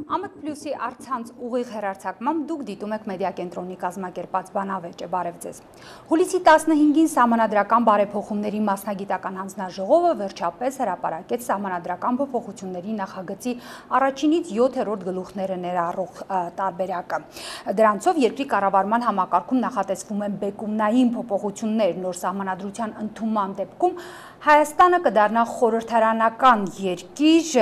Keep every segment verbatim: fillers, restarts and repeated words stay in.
Ամեկ պլյուսի առցանց ուղիղ հեռարձակմամբ դուք դիտում եք մեդիա կենտրոնի կազմակերպած բանավեճը, բարև ձեզ։ Հուլիսի տասնհինգին Սահմանադրական բարեփոխումների մասնագիտական հանձնաժողովը վերջապես հրապարակեց Սահմանադրական փոփոխությունների նախագծի առաջինից յոթերորդ գլուխները ներառող տարբերակը։ Դրանցով երկրի կառավարման համակարգում նախատեսվում են բեկումնային փոփոխություններ, նոր Սահմանադրության ընդունման դեպքում Հայաստանը կդառնա խորհրդարանական երկիր,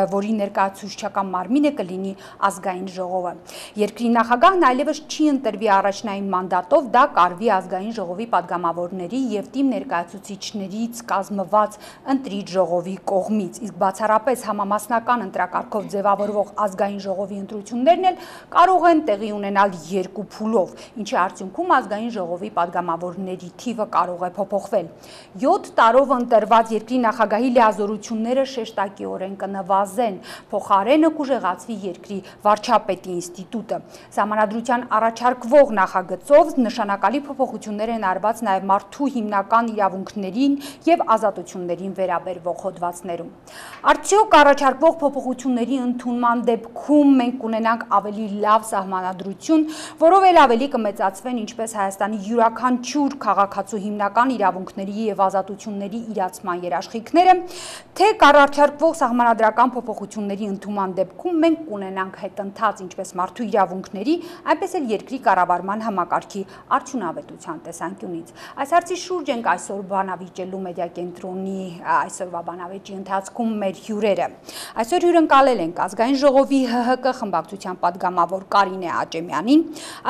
որի ներկայացուցչական մարմինը կլինի ազգային ժողովը։ Երկրի նախագահն այլևս չի ընտրվի առաջնային մանդատով, դա կարվի ազգային ժողովի падգամավորների եւ թիմ ներկայացուցիչներից կազմված ընտրիչ ժողովի կողմից, իսկ բացառապես համամասնական ընտրակարգով ձևավորվող ազգային ժողովի ընտրություններն էլ կարող են տեղի ունենալ երկու փուլով, ինչի արդյունքում ազգային ժողովի падգամավորների թիվը կարող է փոփոխվել։ յոթ տարով ընտրված երկրի նախագահի լիազորությունները շեշտակիորեն կնվազեն, փոխարենը կուժեղացվի երկրի վարչապետի ինստիտուտը։ Սահմանադրության առաջարկվող նախագծով նշանակալի փոփոխություններ են արված նաև մարդու հիմնական իրավունքներին եւ ազատություններին վերաբերվող հոդվածներում։ Արդյոք առաջարկվող փոփոխությունների ընդունման դեպքում մենք կունենանք ավելի լավ սահմանադրություն, որով էլ ավելի կմեծացվեն ինչպես Հայաստանի յուրաքանչյուր քաղաքացու հիմնական իրավունքների եւ ազատությունների իրացման երաշխիքները, թե կառաջարկվող սահմանադրական փոփոխությունների ընդունման դեպքում մենք կունենանք հետընթաց ինչպես մարդու իրավունքների, այնպես էլ երկրի կառավարման համակարգի արդյունավետության տեսանկյունից։ Այս հարցի շուրջ ենք այսօր բանավիճելու մեդիա կենտրոնի այսօրվա բանավեճի ընթացքում մեր հյուրերը։ Այսօր հյուրընկալել ենք ազգային ժողովի Հ Հ Կ խմբակցության падգամավոր Կարինե Աճեմյանին,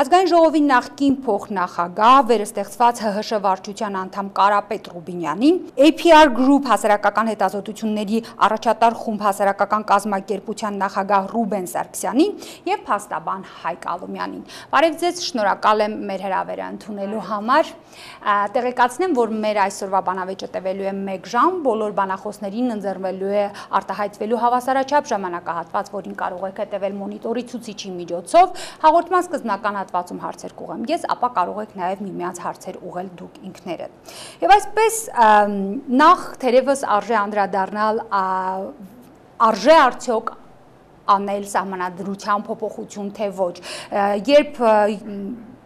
ազգային ժողովի նախկին փոխնախագահ, վերստեղծված Հ Հ Շ վարչության անդամ Կարապետ Ռուբինյանին, A P R Group հասարակական հետազոտությունների առաջատար խումբ հասարակական կազմակերպության նախագահ Ռուբեն Սարգսյանին եւ փաստաբան Հայկ Ալումյանին։ Բարև ձեզ, շնորհակալ եմ մեր հրավերը ընդունելու համար։ Տեղեկացնեմ, որ մեր այսօրվա բանավեճը տևելու է մեկ ժամ, բոլոր բանախոսներին ընձեռվելու է արտահայտվելու հավասարաչափ ժամանակահատված, որին կարող եք հետևել մոնիտորի ցուցիչի միջոցով։ Հաղորդման սկզբնական հատվածում հարցեր կուղեմ ես, ապա կարող եք նաև միմյանց հարցեր ուղղել դուք ինքներդ։ Եվ այսպես նախ թերևս արժե անդրադառնալ արժե արդյոք անել սահմանադրության փոփոխություն թե ոչ, երբ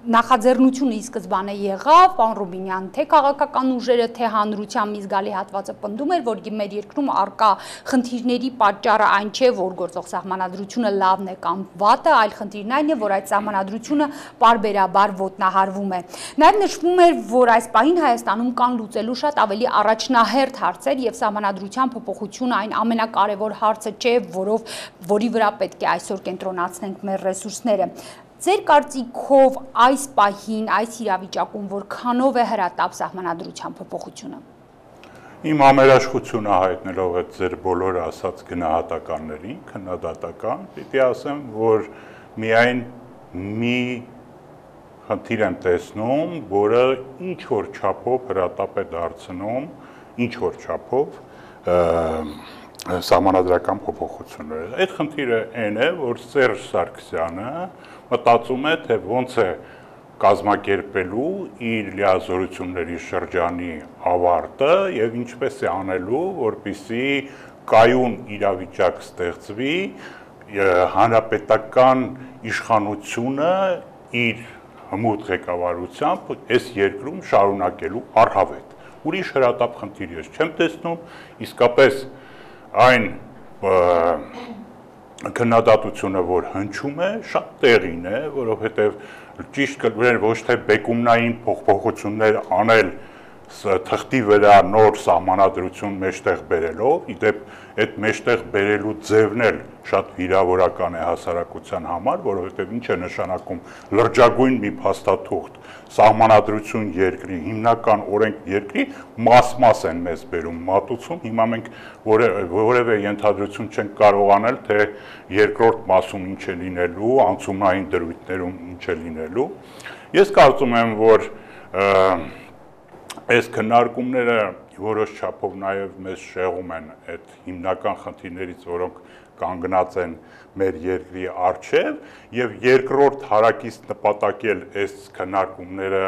նախաձեռնությունը ի սկզբանե եղավ, պարոն Ռուբինյան, թե քաղաքական ուժերը, թե հանրության մի զգալի հատվածը պնդում էր, որ մեր երկրում առկա խնդիրների պատճառը այն չէ, որ գործող սահմանադրությունը լավն է կամ վատը, այլ խնդիրն այն է, որ այդ սահմանադրությունը պարբերաբար ոտնահարվում է։ Նաև նշվում էր, որ այս պահին Հայաստանում կան լուծելու շատ ավելի առաջնահերթ հարցեր եւ սահմանադրության փոփոխությունը այն ամենակարևոր հարցը չէ, որով որի վրա պետք է այսօր կենտրոնացնենք մեր ռեսուրսները։ Ձեր կարծիքով այս պահին, այս իրավիճակում որքանով է հրատապ սահմանադրության փոփոխությունը։ Իմ ամերաշխությունը հայտնելով այդ ձեր բոլոր ասած գնահատականներին, քննադատական, պիտի ասեմ, որ միայն մի խնդիր եմ տեսնում, որը ինչ որ չափով հրատապ է դարձնում, ինչ որ չափով սահմանադրական փոփոխությունները։ Այդ խնդիրը այն է, որ Սերժ Սարգսյանը մտածում է, թե ոնց է կազմակերպելու իր լիազորությունների շրջանի ավարտը եւ ինչպես է անելու, որպեսզի կայուն իրավիճակ ստեղծվի հանրապետական իշխանությունը իր հմուտ ղեկավարությամբ այս երկրում շարունակելու առհավետ։ Ուրիշ հրատապ խնդիր ես չեմ տեսնում, իսկապես այն քննադատությունը, որ հնչում է, շատ տեղին է, որովհետև ճիշտ կլներ ոչ թե բեկումնային փոփոխություններ անել թղթի վրա նոր սահմանադրություն մեջտեղ բերելով, իդեպ այդ մեջտեղ բերելու ձևն էլ շատ վիրավորական է հասարակության համար, որովհետև ինչ է նշանակում լրջագույն մի փաստաթուղթ սահմանադրություն երկրի, հիմնական օրենք երկրի մաս-մաս են մեզ բերում մատուցում, հիմա մենք որևէ ենթադրություն չենք կարող անել, թե երկրորդ մասում ինչ է լինելու, անցումային դրույթներում ինչ է լինելու։ Ես կարծում եմ, որ այս քննարկումները որոշ չափով նաև մեզ շեղում են այդ հիմնական խնդիրներից, որոնք կանգնած են մեր երկրի առջև, եւ երկրորդ հարակից նպատակել այս քննարկումները,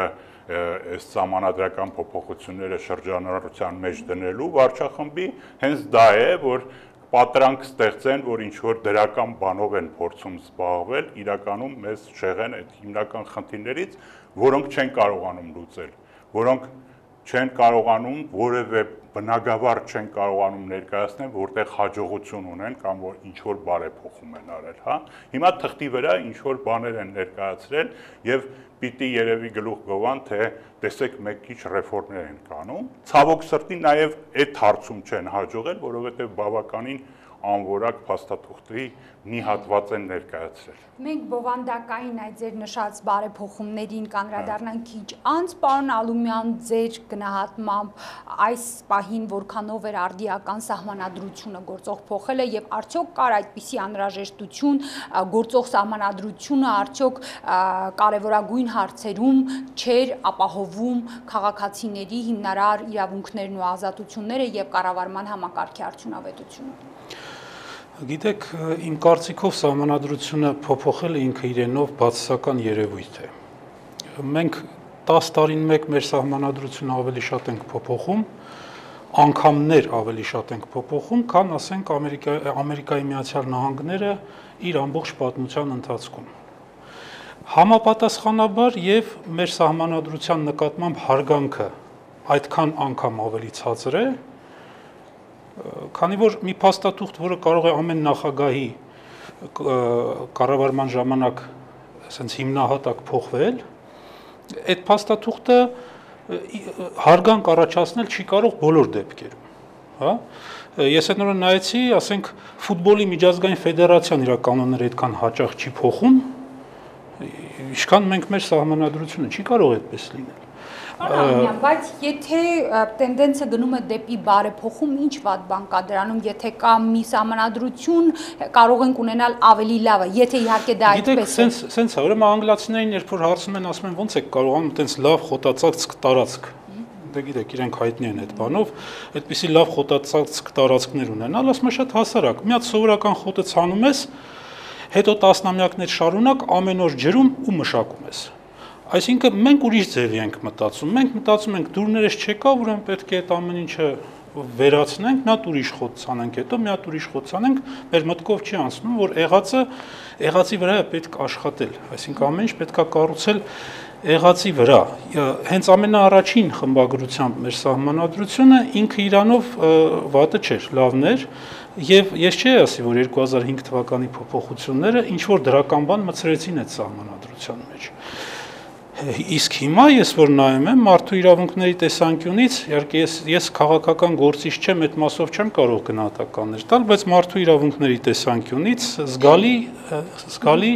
այս սահմանադրական փոփոխությունները շրջանառության մեջ դնելու վարչախմբի հենց դա է, որ պատրանք ստեղծեն, որ ինչ որ դրական բանով են փորձում զբաղվել, իրականում մեզ շեղեն այդ հիմնական խնդիրներից, որոնք չեն կարողանում լուծել, որոնք չեն կարողանում որևէ բնագավառ չեն կարողանում ներկայացնել, որտեղ հաջողություն ունեն կամ որ ինչ որ բարեփոխում են արել, հա։ Հիմա թղթի վրա ինչ որ բաներ են ներկայացրել եւ պիտի երևի գլուխ գովան, թե տեսեք մեկ քիչ ռեֆորմներ են կանում։ Ցավոք սրտի նաեւ այդ հարցում չեն հաջողել, որովհետեւ բավականին անորակ փաստաթուղթի մի հատված են ներկայացրել։ Մենք բովանդակային այդ ձեր նշած բարեփոխումներին կանդրադառնանք քիչ անց, պարոն Ալումյան, ձեր գնահատմամբ այս պահին որքանով էր արդիական սահմանադրությունը գործող փոխելը եւ արդյոք կար այդպիսի անհրաժեշտություն գործող սահմանադրությունը արդյոք կարևորագույն հարցերում չէր ապահովում քաղաքացիների հիմնարար իրավունքներն ու ազատությունները եւ կառավարման համակարգի արդյունավետությունը։ Գիտեք, իմ կարծիքով սահմանադրությունը փոփոխելը ինքը իրենով բացասական երևույթ է։ Մենք տաս տարին մեկ մեր սահմանադրությունը ավելի շատ ենք փոփոխում, անգամներ ավելի շատ ենք փոփոխում, քան ասենք Ամերիկայի Միացյալ Նահանգները իր ամբողջ պատմության ընթացքում։ Համապատասխանաբար եւ մեր սահմանադրության նկատմամբ հարգանքը այդքան անգամ ավելի ցածր է, քանի որ մի փաստաթուղթ, որը կարող է ամեն նախագահի կառավարման ժամանակ ասենց հիմնահատակ փոխվել, այդ փաստաթուղթը հարգանք առաջացնել չի կարող բոլոր դեպքերում, հա։ Ես այդ նորը նայեցի, ասենք ֆուտբոլի միջազգային ֆեդերացիան իր կանոնները այդքան հաճախ չի փոխում, ինչքան մենք մեր սահմանադրությունը չի կարող այդպես լինել։ Արամյան, բայց եթե տենդենսը գնում է դեպի բարեփոխում, ինչ վատ բան կա դրանում, եթե կա մի սահմանադրություն, կարող ենք ունենալ ավելի լավը, եթե իհարկե դա այդպես է։ Գիտեք, սենց է, ուրեմն անգլիացիներին երբ որ հարցնում են, ասում են ոնց եք կարողանում այդպես լավ խոտածածկ տարածք։ Դե գիտեք, իրենք հայտնի են այդ բանով, այդպիսի լավ խոտածածկ տարածքներ ունենալ, ասում է շատ հասարակ։ Մի հատ սովորական խոտը ցանում ես, հետո տասնամյակներ շարունակ ամեն օր ջրում ու մշակում ես։ Այսինքն մենք ուրիշ ձևի ենք մտածում, մենք մտածում ենք դուրներս չեկավ, ուրեմն պետք է այդ ամեն ինչը վերացնենք, մի հատ ուրիշ խոտ ցանենք, հետո մի հատ ուրիշ խոտ ցանենք, մեր մտքով չի անցնում, որ եղածը եղածի վրա է պետք աշխատել, այսինքն ամեն ինչ պետք է կառուցել եղածի վրա։ Հենց ամենաառաջին խմբագրությամբ մեր սահմանադրությունը ինքը իրանով վատը չէր, լավն էր, եւ ես չի ասի, որ երկու հազար հինգ թվականի փոփոխությունները ինչ որ դրական բան մցրեցին այդ սահմանադրության մեջ։ Իսկ հիմա ես որ նայում եմ մարդու իրավունքների տեսանկյունից, իհարկե ես ես քաղաքական գործիչ չեմ, այդ մասով չեմ կարող գնահատականներ տալ, բայց մարդու իրավունքների տեսանկյունից զգալի զգալի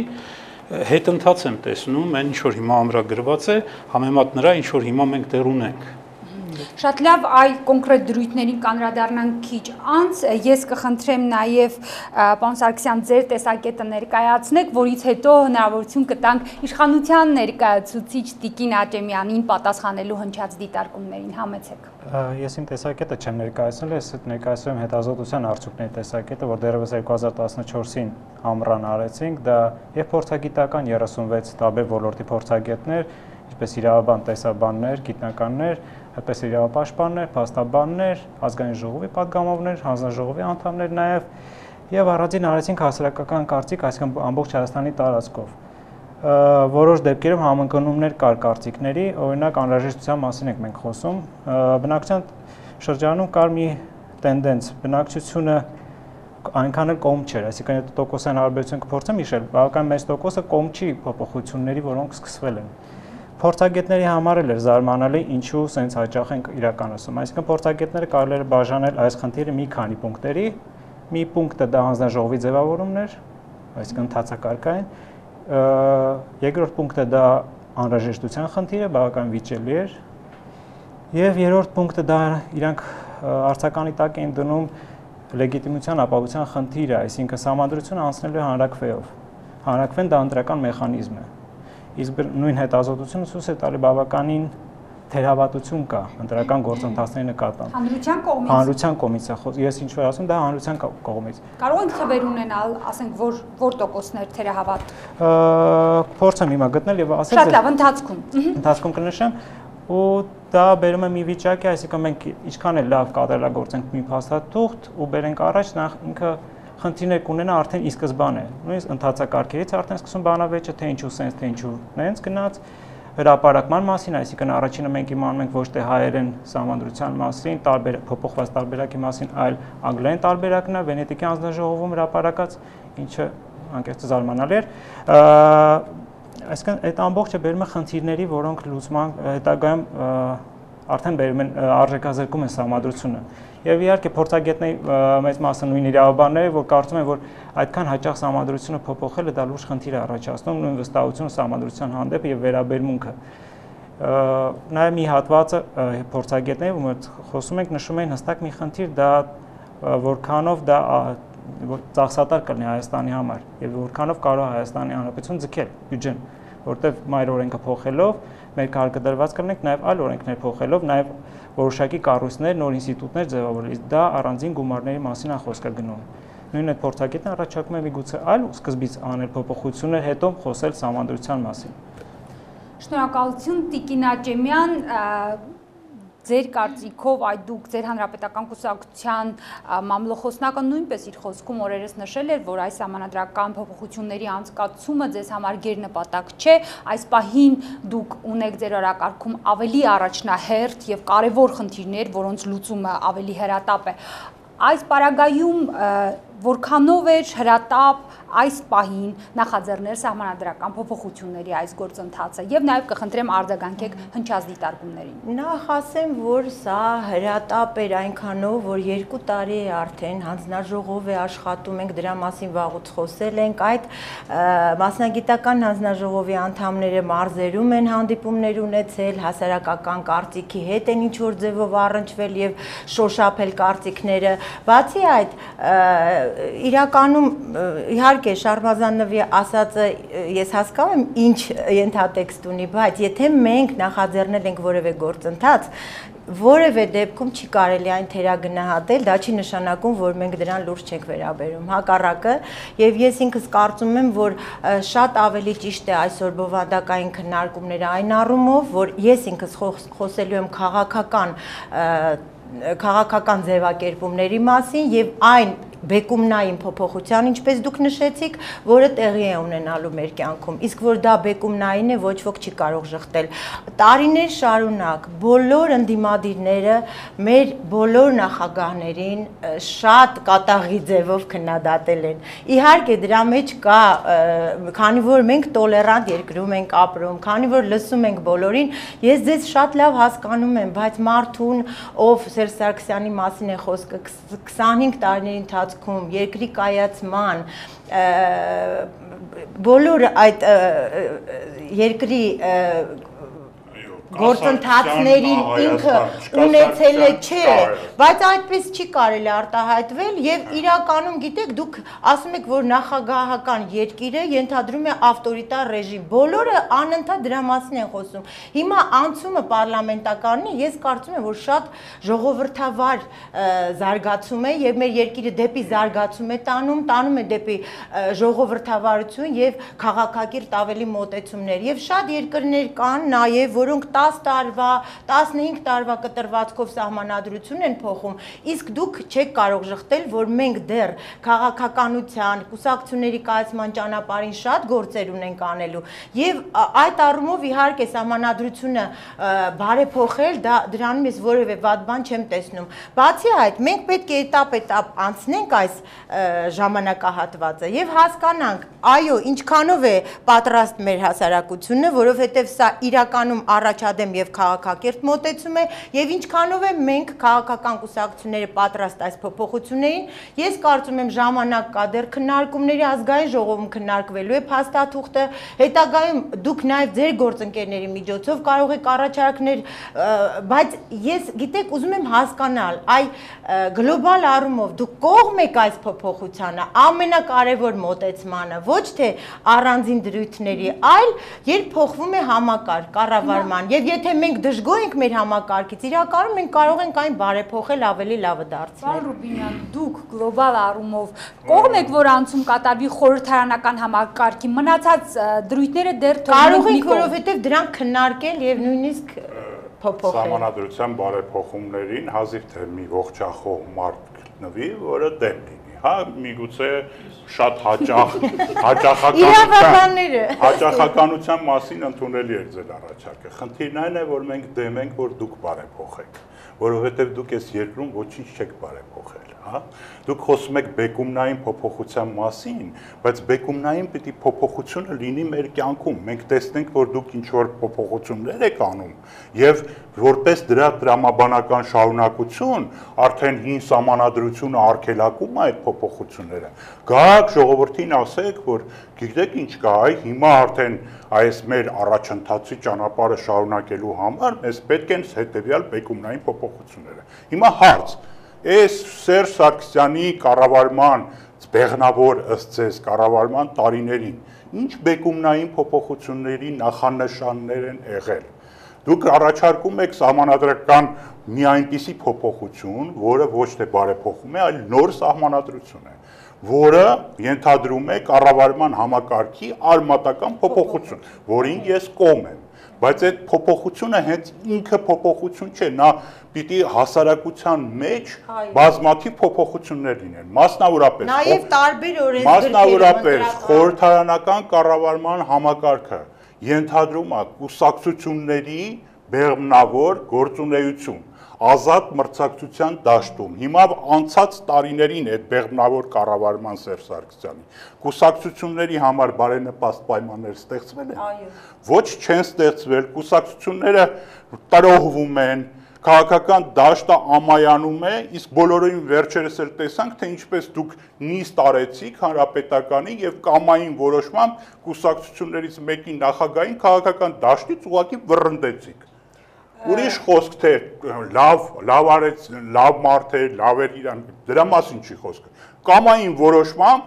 հետընթաց եմ տեսնում, այն ինչ որ հիմա ամրագրված է, համեմատ նրա ինչ որ հիմա մենք դեռ ունենք։ Շատ լավ, այ կոնկրետ դրույթներին կանդրադառնանք քիչ անց, ես կխնդրեմ նաև պարոն Սարգսյան ձեր տեսակետը ներկայացնեք, որից հետո հնարավորություն կտանք իշխանության ներկայացուցիչ Տիկին Աճեմյանին պատասխանելու հնչած դիտարկումներին, համեցեք։ Ես իմ տեսակետը չեմ ներկայացնել, ես ներկայացնում եմ հետազոտության արդյունքների տեսակետը, որ դեռևս երկու հազար տասնչորսին ամռան արեցինք, դա եւ փորձագիտական երեսունվեց տարբեր ոլորտի փորձագետներ, ինչպես իրավաբան, տեսաբաններ, գիտնականներ, այդպես իրավապաշտպաններ, փաստաբաններ, ազգային ժողովի պատգամավորներ, հանձնաժողովի անդամներ նաև եւ առանձին արեցինք հասարակական կարծիք, այսինքն ամբողջ Հայաստանի տարածքով։ Որոշ դեպքերում համընկնումներ կար կարծիքների, օրինակ անհրաժեշտության մասին ենք մենք խոսում, բնակչության շրջանում կար մի տենդենս, բնակչությունը այնքան էլ կողմ չէր, այսինքն այդ տոկոսային հարաբերություն կփորձեմ հիշել, բավական մեծ տոկոսը կողմ չի փոփոխությունների, որոնք սկսվել են։ Փորձագետների համար էլ էր զարմանալի, ինչու սենց հաճախ ենք իրականացում։ Այսինքն փորձագետները կարելի էր բաժանել այս խնդիրը մի քանի պունկտերի։ Մի պունկտը դա հանձնաժողովի ձևավորումն էր, այսինքն ընթացակարգային։ Երկրորդ պունկտը դա անհրաժեշտության խնդիրը, բավական վիճելի էր։ Եվ երրորդ պունկտը դա իրանք արձականի տակ էին դնում լեգիտիմության ապահովության խնդիրը, այսինքն սահմանադրությունը անցնելու հանրակրվեով։ Հանրակրվեն դա ընտրական մեխանիզմ է։ Իսկ նույն հետազոտությունը ցույց է տալի բավականին թերահավատություն կա ընտրական գործընթացների նկատմամբ։ Հանրության կողմից։ Հանրության կողմից է, ես ինչ որ ասում, դա հանրության կողմից։ Կարող ենք թվեր ունենալ, ասենք, որ որ տոկոսներ թերահավատ։ Փորձեմ հիմա գտնել եւ ասել։ Շատ լավ, ընթացքում։ Ընթացքում կնշեմ, ու դա բերում է մի վիճակի, այսինքն մենք ինչքան էլ լավ կատարելագործենք մի փաստաթուղթ ու բերենք առաջ, նախ ինքը խնդիրներ կունենա արդեն ի սկզբանե, նույնիսկ ընթացակարգերից արդեն սկսում բանավեճը, թե ինչու սենց, թե ինչու նենց գնաց, հրապարակման մասին, այսինքն առաջինը մենք իմանում ենք ոչ թե հայերեն սահմանադրության մասին, տարբեր փոփոխված տարբերակի մասին, այլ անգլերեն տարբերակն է Վենետիկի հանձնաժողովում հրապարակած, ինչը անկեղծ զարմանալի էր։ Այսինքն այդ ամբողջը բերում է խնդիրների, որոնք լուծման հետագայում արդեն բերում են արժեքազրկում են սահմանադրությունը։ Եվ իհարկե փորձագետների մեծ մասը նույն իրավաբանները, որ կարծում են, որ այդքան հաճախ սահմանադրությունը փոփոխելը դա լուրջ խնդիր է առաջացնում, նույն վստահությունը սահմանադրության հանդեպ եւ վերաբերմունքը։ Նաեւ մի հատվածը փորձագետները, ում խոսում ենք, նշում են հստակ մի խնդիր, դա որքանով դա ծախսատար կլինի Հայաստանի համար եւ որքանով կարող է Հայաստանի Հանրապետություն ձգել բյուջեն, որտեղ մայր օրենքը փոխելով մեր կարգադրված կլինենք նաեւ այլ օրենքներ փոխելով, նաեւ որոշակի կառույցներ, նոր ինստիտուտներ ձևավորել, դա առանձին գումարների մասին է խոսքը գնում։ Նույն այդ փորձագետն առաջարկում է միգուցե այլ սկզբից անել փոփոխություններ, հետո խոսել սահմանադրության մասին։ Շնորհակալություն Տիկին Աճեմյան, ձեր կարծիքով այդ դուք ձեր հանրապետական կուսակցության մամլոխոսնակը նույնպես իր խոսքում օրերս նշել էր, որ այս համանadrական փոփոխությունների անցկացումը ձեզ համար գերնպատակ չէ, այս պահին դուք ունեք ձեր օրակարգում ավելի առաջնահերթ եւ կարեւոր խնդիրներ, որոնց լուծումը ավելի հրատապ է։ Այս պարագայում որքանով էր հրատապ այս պահին նախաձեռնել սահմանադրական փոփոխությունների այս գործընթացը եւ նաեւ կխնդրեմ արձագանքեք հնչած դիտարկումներին։ Նախ ասեմ, որ սա հրատապ էր այնքանով, որ երկու տարի է արդեն հանձնաժողով է աշխատում, ենք դրա մասին վաղուց խոսել ենք, այդ մասնագիտական հանձնաժողովի անդամները մարզերում են հանդիպումներ ունեցել, հասարակական կարծիքի հետ են ինչ որ ձևով առնչվել եւ շոշափել կարծիքները։ Բացի այդ, իրականում իհարկե Շարմազանովի ասածը ես հասկանում եմ ինչ ենթատեքստ ունի, բայց եթե մենք նախաձեռնել ենք որևէ գործընթաց, որևէ դեպքում չի կարելի այն թերագնահատել, դա չի նշանակում, որ մենք դրան լուրջ չենք վերաբերում, հակառակը, եւ ես ինքս կարծում եմ, որ շատ ավելի ճիշտ է այսօր բովանդակային քննարկումները այն առումով, որ ես ինքս խոսելու եմ քաղաքական քաղաքական ձևակերպումների մասին եւ այն բեկումնային փոփոխության, ինչպես դուք նշեցիք, որը տեղի է ունենալու մեր կյանքում, իսկ որ դա բեկումնային է, ոչ ոք չի կարող ժխտել։ Տարիներ շարունակ բոլոր ընդդիմադիրները մեր բոլոր նախագահներին շատ կատաղի ձևով քննադատել են։ Իհարկե դրա մեջ կա, քանի որ մենք տոլերանտ երկրում ենք ապրում, քանի որ լսում ենք բոլորին, ես ձեզ շատ լավ հասկանում եմ, բայց մարդուն, ով Սերժ Սարգսյանի մասին է խոսքը, քսանհինգ տարիների ընթացքում երկրի կայացման բոլոր այդ երկրի գործընթացներին ինքը ունեցել է չէ, բայց այդպես չի կարելի արտահայտվել եւ իրականում գիտեք դուք ասում եք որ նախագահական երկիրը ենթադրում է ավտորիտար ռեժիմ, բոլորը անընդհատ դրա մասին են խոսում։ Հիմա անցումը պարլամենտականն է, ես կարծում եմ որ շատ ժողովրդավար զարգացում է եւ մեր երկիրը դեպի զարգացում է տանում, տանում է դեպի ժողովրդավարություն եւ քաղաքակիրթ ավելի մոտեցումներ եւ շատ երկրներ կան նաեւ որոնք տասը տարվա, տասնհինգ տարվա կտրվածքով սահմանադրություն են փոխում, իսկ դուք չեք կարող ժխտել, որ մենք դեռ քաղաքականության, կուսակցությունների կայացման ճանապարհին շատ գործեր ունենք անելու եւ այդ առումով իհարկե սահմանադրությունը բարեփոխել, դա դրանում ես որևէ վատ բան չեմ տեսնում։ Բացի այդ, մենք պետք է этап-этап անցնենք այս ժամանակահատվածը եւ հասկանանք, այո, ինչքանով է պատրաստ մեր հասարակությունը, որովհետեւ սա իրականում առաջադեմ եւ քաղաքակիրթ մոտեցում է եւ ինչքանով է մենք քաղաքական կուսակցությունները պատրաստ այս փոփոխություններին, ես կարծում եմ ժամանակ կա դեռ քննարկումների ազգային ժողովում քննարկվելու է փաստաթուղթը, հետագայում դուք նաեւ ձեր գործընկերների միջոցով կարող եք առաջարկներ, բայց ես գիտեք ուզում եմ հասկանալ, այ գլոբալ առումով դուք կողմ եք այս փոփոխությանը, ամենակարևոր մոտեցմանը, ոչ թե առանձին դրույթների, այլ երբ փոխվում է համակարգ, կառավարման, եւ եթե մենք դժգոհ ենք մեր համակարգից, իրականում մենք կարող ենք այն բարեփոխել, ավելի լավը դարձնել։ Պարոն Ռուբինյան, դուք գլոբալ առումով կողմ եք, որ անցում կատարվի խորհրդարանական համակարգի, մնացած դրույթները դեռ կարող ենք, որովհետեւ դրանք քննարկել եւ նույնիսկ Սահմանադրության բարեփոխումներին հազիվ թե մի ողջախոհ մարդ գտնվի, որը դեմ լինի։ Հա, միգուցե շատ հաճախ հաճախականության հաճախականության մասին ընդունելի է ձեր առաջարկը։ Խնդիրն այն է, որ մենք դեմ ենք, որ դուք բարեփոխեք, որովհետև դուք այս երկրում ոչինչ չեք բարեփոխել, հա։ Դուք խոսում եք բեկումնային փոփոխության մասին, բայց բեկումնային պիտի փոփոխությունը լինի մեր կյանքում։ Մենք տեսնենք, որ դուք ինչ որ փոփոխություններ եք անում, եւ որպես դրա տրամաբանական շարունակություն արդեն հին սահմանադրությունը արգելակում է այդ փոփոխությունները։ Գաք ժողովրդին ասեք, որ գիտեք ինչ կա, այ հիմա արդեն այս մեր առաջընթացի ճանապարհը շարունակելու համար մեզ պետք են հետեւյալ բեկումնային փոփոխությունները։ Հիմա հարց. Այս Սերժ Սարգսյանի կառավարման բեղնավոր ըստ ձեզ կառավարման տարիներին ինչ բեկումնային փոփոխությունների նախանշաններ են եղել։ Դուք առաջարկում եք սահմանադրական մի այնպիսի փոփոխություն, որը ոչ թե բարեփոխում է, այլ նոր սահմանադրություն է, որը ենթադրում է կառավարման համակարգի արմատական փոփոխություն, որին ես կողմ եմ։ Բայց այդ փոփոխությունը հենց ինքը փոփոխություն չէ, նա պիտի հասարակության մեջ բազմաթիվ փոփոխություններ լինեն, մասնավորապես նաև տարբեր օրենսգրքեր, մասնավորապես խորհրդարանական կառավարման համակարգը ենթադրում է կուսակցությունների բեղմնավոր գործունեություն, ազատ մրցակցության դաշտում։ Հիմա անցած տարիներին այդ բեղմնավոր կառավարման Սերժ Սարգսյանի կուսակցությունների համար բարենպաստ պայմաններ ստեղծվել են։ Այո։ Ոչ չեն ստեղծվել, կուսակցությունները տրոհվում են, քաղաքական դաշտը ամայանում է, իսկ բոլորին վերջերս էլ տեսանք, թե ինչպես դուք նիստ արեցիք հանրապետականի եւ կամային որոշմամբ կուսակցություններից մեկի նախագահին քաղաքական դաշտից ուղղակի վռնդեցիք։ Ուրիշ խոսք թե լավ, լավ արեց, լավ մարդ է, լավ էր իրան, դրա մասին չի խոսքը։ Կամային որոշմամբ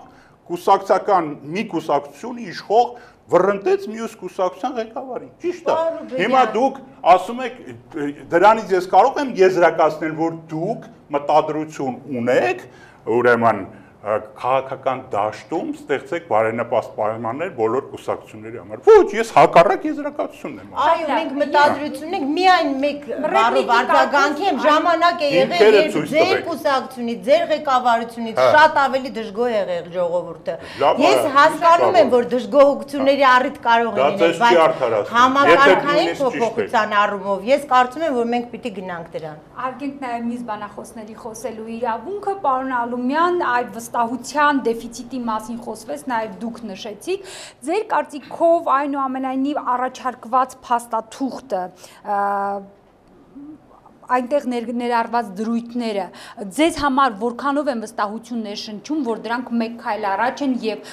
կուսակցական մի կուսակցություն իշխող վռնդեց մյուս կուսակցության ղեկավարին։ Ճիշտ է։ Հիմա դուք ասում եք, դրանից ես կարող եմ եզրակացնել, որ դուք մտադրություն ունեք, ուրեմն քաղաքական դաշտում ստեղծեք բարենպաստ պայմաններ բոլոր կուսակցությունների համար։ Ոչ, ես հակառակ եզրակացությունն եմ ասում։ Այո, մենք մտադրություն ենք, միայն մեկ բառով արձագանքի եմ, ժամանակ է եղել, երբ ձեր կուսակցությունից, ձեր ղեկավարությունից շատ ավելի դժգոհ է եղել ժողովուրդը։ Ես հասկանում եմ, որ դժգոհությունների առիթ կարող է լինել, բայց համակարգային փոփոխության առումով ես կարծում եմ, որ մենք պիտի գնանք դրան։ Արգենք նաև մյուս բանախոսների խոսելու իրավունքը, պարոն Ալումյան, այդ վստահության դեֆիցիտի մասին խոսվեց, նաև դուք նշեցիք, ձեր կարծիքով այնուամենայնիվ առաջարկված փաստաթուղթը այնտեղ ներառված դրույթները ձեզ համար որքանով են վստահություն ներշնչում, որ դրանք մեկ քայլ առաջ են եւ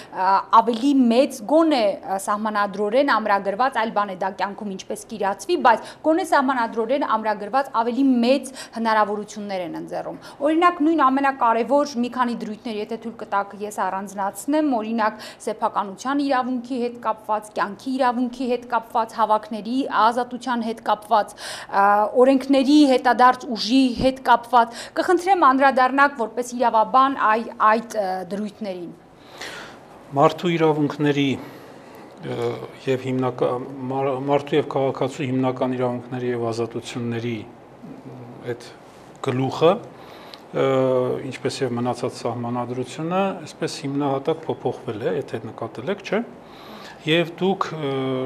ավելի մեծ գոնե սահմանադրորեն ամրագրված, այլ բան է դա կյանքում ինչպես կիրացվի, բայց գոնե սահմանադրորեն ամրագրված ավելի մեծ հնարավորություններ են ընձեռում։ Օրինակ նույն ամենակարևոր մի քանի դրույթներ, եթե թույլ կտաք, ես առանձնացնեմ, օրինակ սեփականության իրավունքի հետ կապված, կյանքի իրավունքի հետ կապված, հավաքների ազատության հետ կապված, օրենքների հետադարձ ուժի հետ կապված, կխնդրեմ անդրադառնաք որպես իրավաբան այդ դրույթներին։ Մարդու իրավունքների եւ հիմնական մարդու եւ քաղաքացու հիմնական իրավունքների եւ ազատությունների այդ գլուխը, ինչպես եւ մնացած սահմանադրությունը, այսպես հիմնահատակ փոփոխվել է, եթե նկատել եք, չէ՞։ Եվ դուք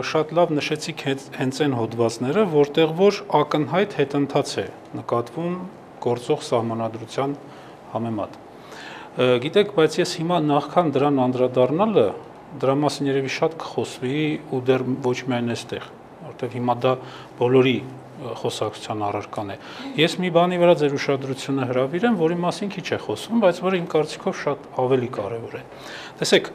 շատ լավ նշեցիք հենց այն հոդվածները, որտեղ որ ակնհայտ հետընթաց է նկատվում գործող սահմանադրության համեմատ։ Գիտեք, բայց ես հիմա նախքան դրան անդրադառնալը, դրա մասին երևի շատ կխոսվի ու դեռ ոչ միայն այստեղ, որտեղ հիմա դա բոլորի խոսակցության առարկան է։ Ես մի բանի վրա ձեր ուշադրությունը հրավիրեմ, որի մասին քիչ է խոսվում, բայց որը իմ կարծիքով շատ ավելի կարևոր է։ Տեսեք,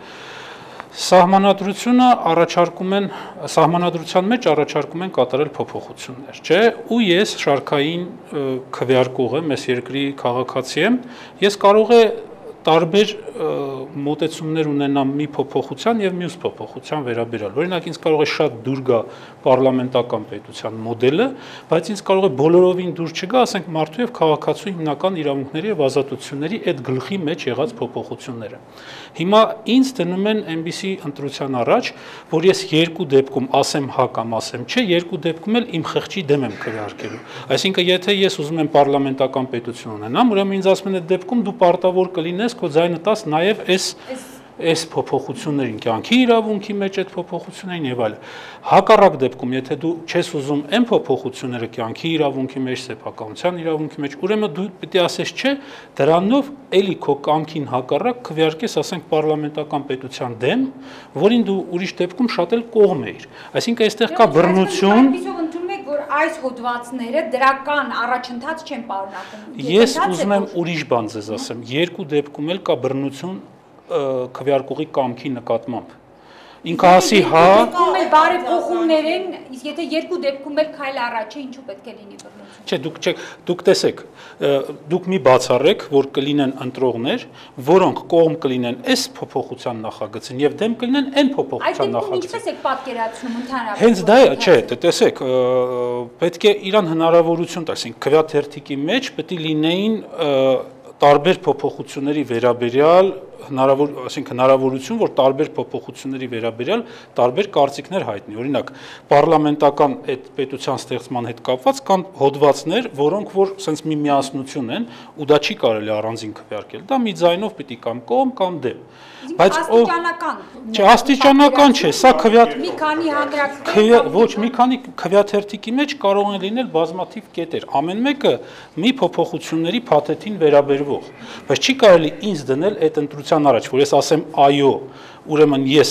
Սահմանադրությունը առաջարկում են, սահմանադրության մեջ առաջարկում են կատարել փոփոխություններ, չէ՞, ու ես շարքային քվեարկող եմ, ես երկրի քաղաքացի եմ, ես կարող է տարբեր մոտեցումներ ունենամ մի փոփոխության եւ մյուս փոփոխության վերաբերյալ։ Օրինակ ինձ կարող է շատ դուր գա պարլամենտական պետության մոդելը, բայց ինձ կարող է բոլորովին դուր չգա, ասենք մարդու եւ քաղաքացու հիմնական իրավունքների եւ ազատությունների այդ գլխի մեջ եղած փոփոխությունները։ Հիմա ինձ դնում են այնպիսի ընտրության առաջ, որ ես երկու դեպքում ասեմ հա կամ ասեմ չէ, երկու դեպքում էլ իմ խղճի դեմ եմ քվեարկելու։ Այսինքն եթե ես ուզում եմ պարլամենտական պետություն ունենամ, ուրեմն ինձ ասում են այդ դեպքում դու պարտավոր կլինես քո ձայնը տաս նաև այս այս փոփոխություններին, կյանքի իրավունքի մեջ այդ փոփոխություններին եւ այլն։ Հակառակ դեպքում, եթե դու չես ուզում այն փոփոխությունները կյանքի իրավունքի մեջ, սեփականության իրավունքի մեջ, ուրեմն դու պիտի ասես չէ, դրանով էլի քո կամքին հակառակ քվեարկես, ասենք պարլամենտական պետության դեմ, որին դու ուրիշ դեպքում շատ էլ կողմ էիր։ Այսինքն այստեղ կա բռնություն, որ այս հոդվածները դրական առաջընթաց չեն պարունակում։ Ես ուզում եմ ուրիշ բան ձեզ ասեմ, երկու դեպքում էլ կա բռնություն քվեարկողի կամքի նկատմամբ։ Ինքը ասի հա, բարեփոխումներ են, իսկ եթե երկու դեպքում էլ քայլ առաջ է, ինչու պետք է լինի բռնություն։ Չէ, դուք չեք, դուք տեսեք, դուք մի բացառեք, որ կլինեն ընտրողներ, որոնք կողմ կլինեն այս փոփոխության նախագծին եւ դեմ կլինեն այն փոփոխության նախագծին։ Այդ ինչպես եք պատկերացնում ընդհանրապես։ Հենց դա է, չէ, տեսեք, պետք է իրան հնարավորություն տալ, ասենք քվեաթերթիկի մեջ պետք է լինեին տարբեր փոփոխությունների վերաբերյալ հնարավոր, ասենք հնարավորություն, որ տարբեր փոփոխությունների վերաբերյալ տարբեր կարծիքներ հայտնի։ Օրինակ, պարլամենտական այդ պետության ստեղծման հետ կապված կան հոդվածներ, որոնք որ sense մի միասնություն են, ու դա չի կարելի առանձին քվեարկել։ Դա մի ձայնով պիտի կամ կողմ կամ դեմ։ Բայց աստիճանական։ Չէ, աստիճանական չէ, սա քվեաթ մի քանի հանրակրթ ոչ, մի քանի քվեաթերթիկի մեջ կարող են լինել բազմաթիվ կետեր։ Ամեն մեկը մի փոփոխությունների փաթեթին վերաբերվող, բայց չի կարելի ինձ դնել այդ ընտրության առաջ, որ ես ասեմ այո, ուրեմն ես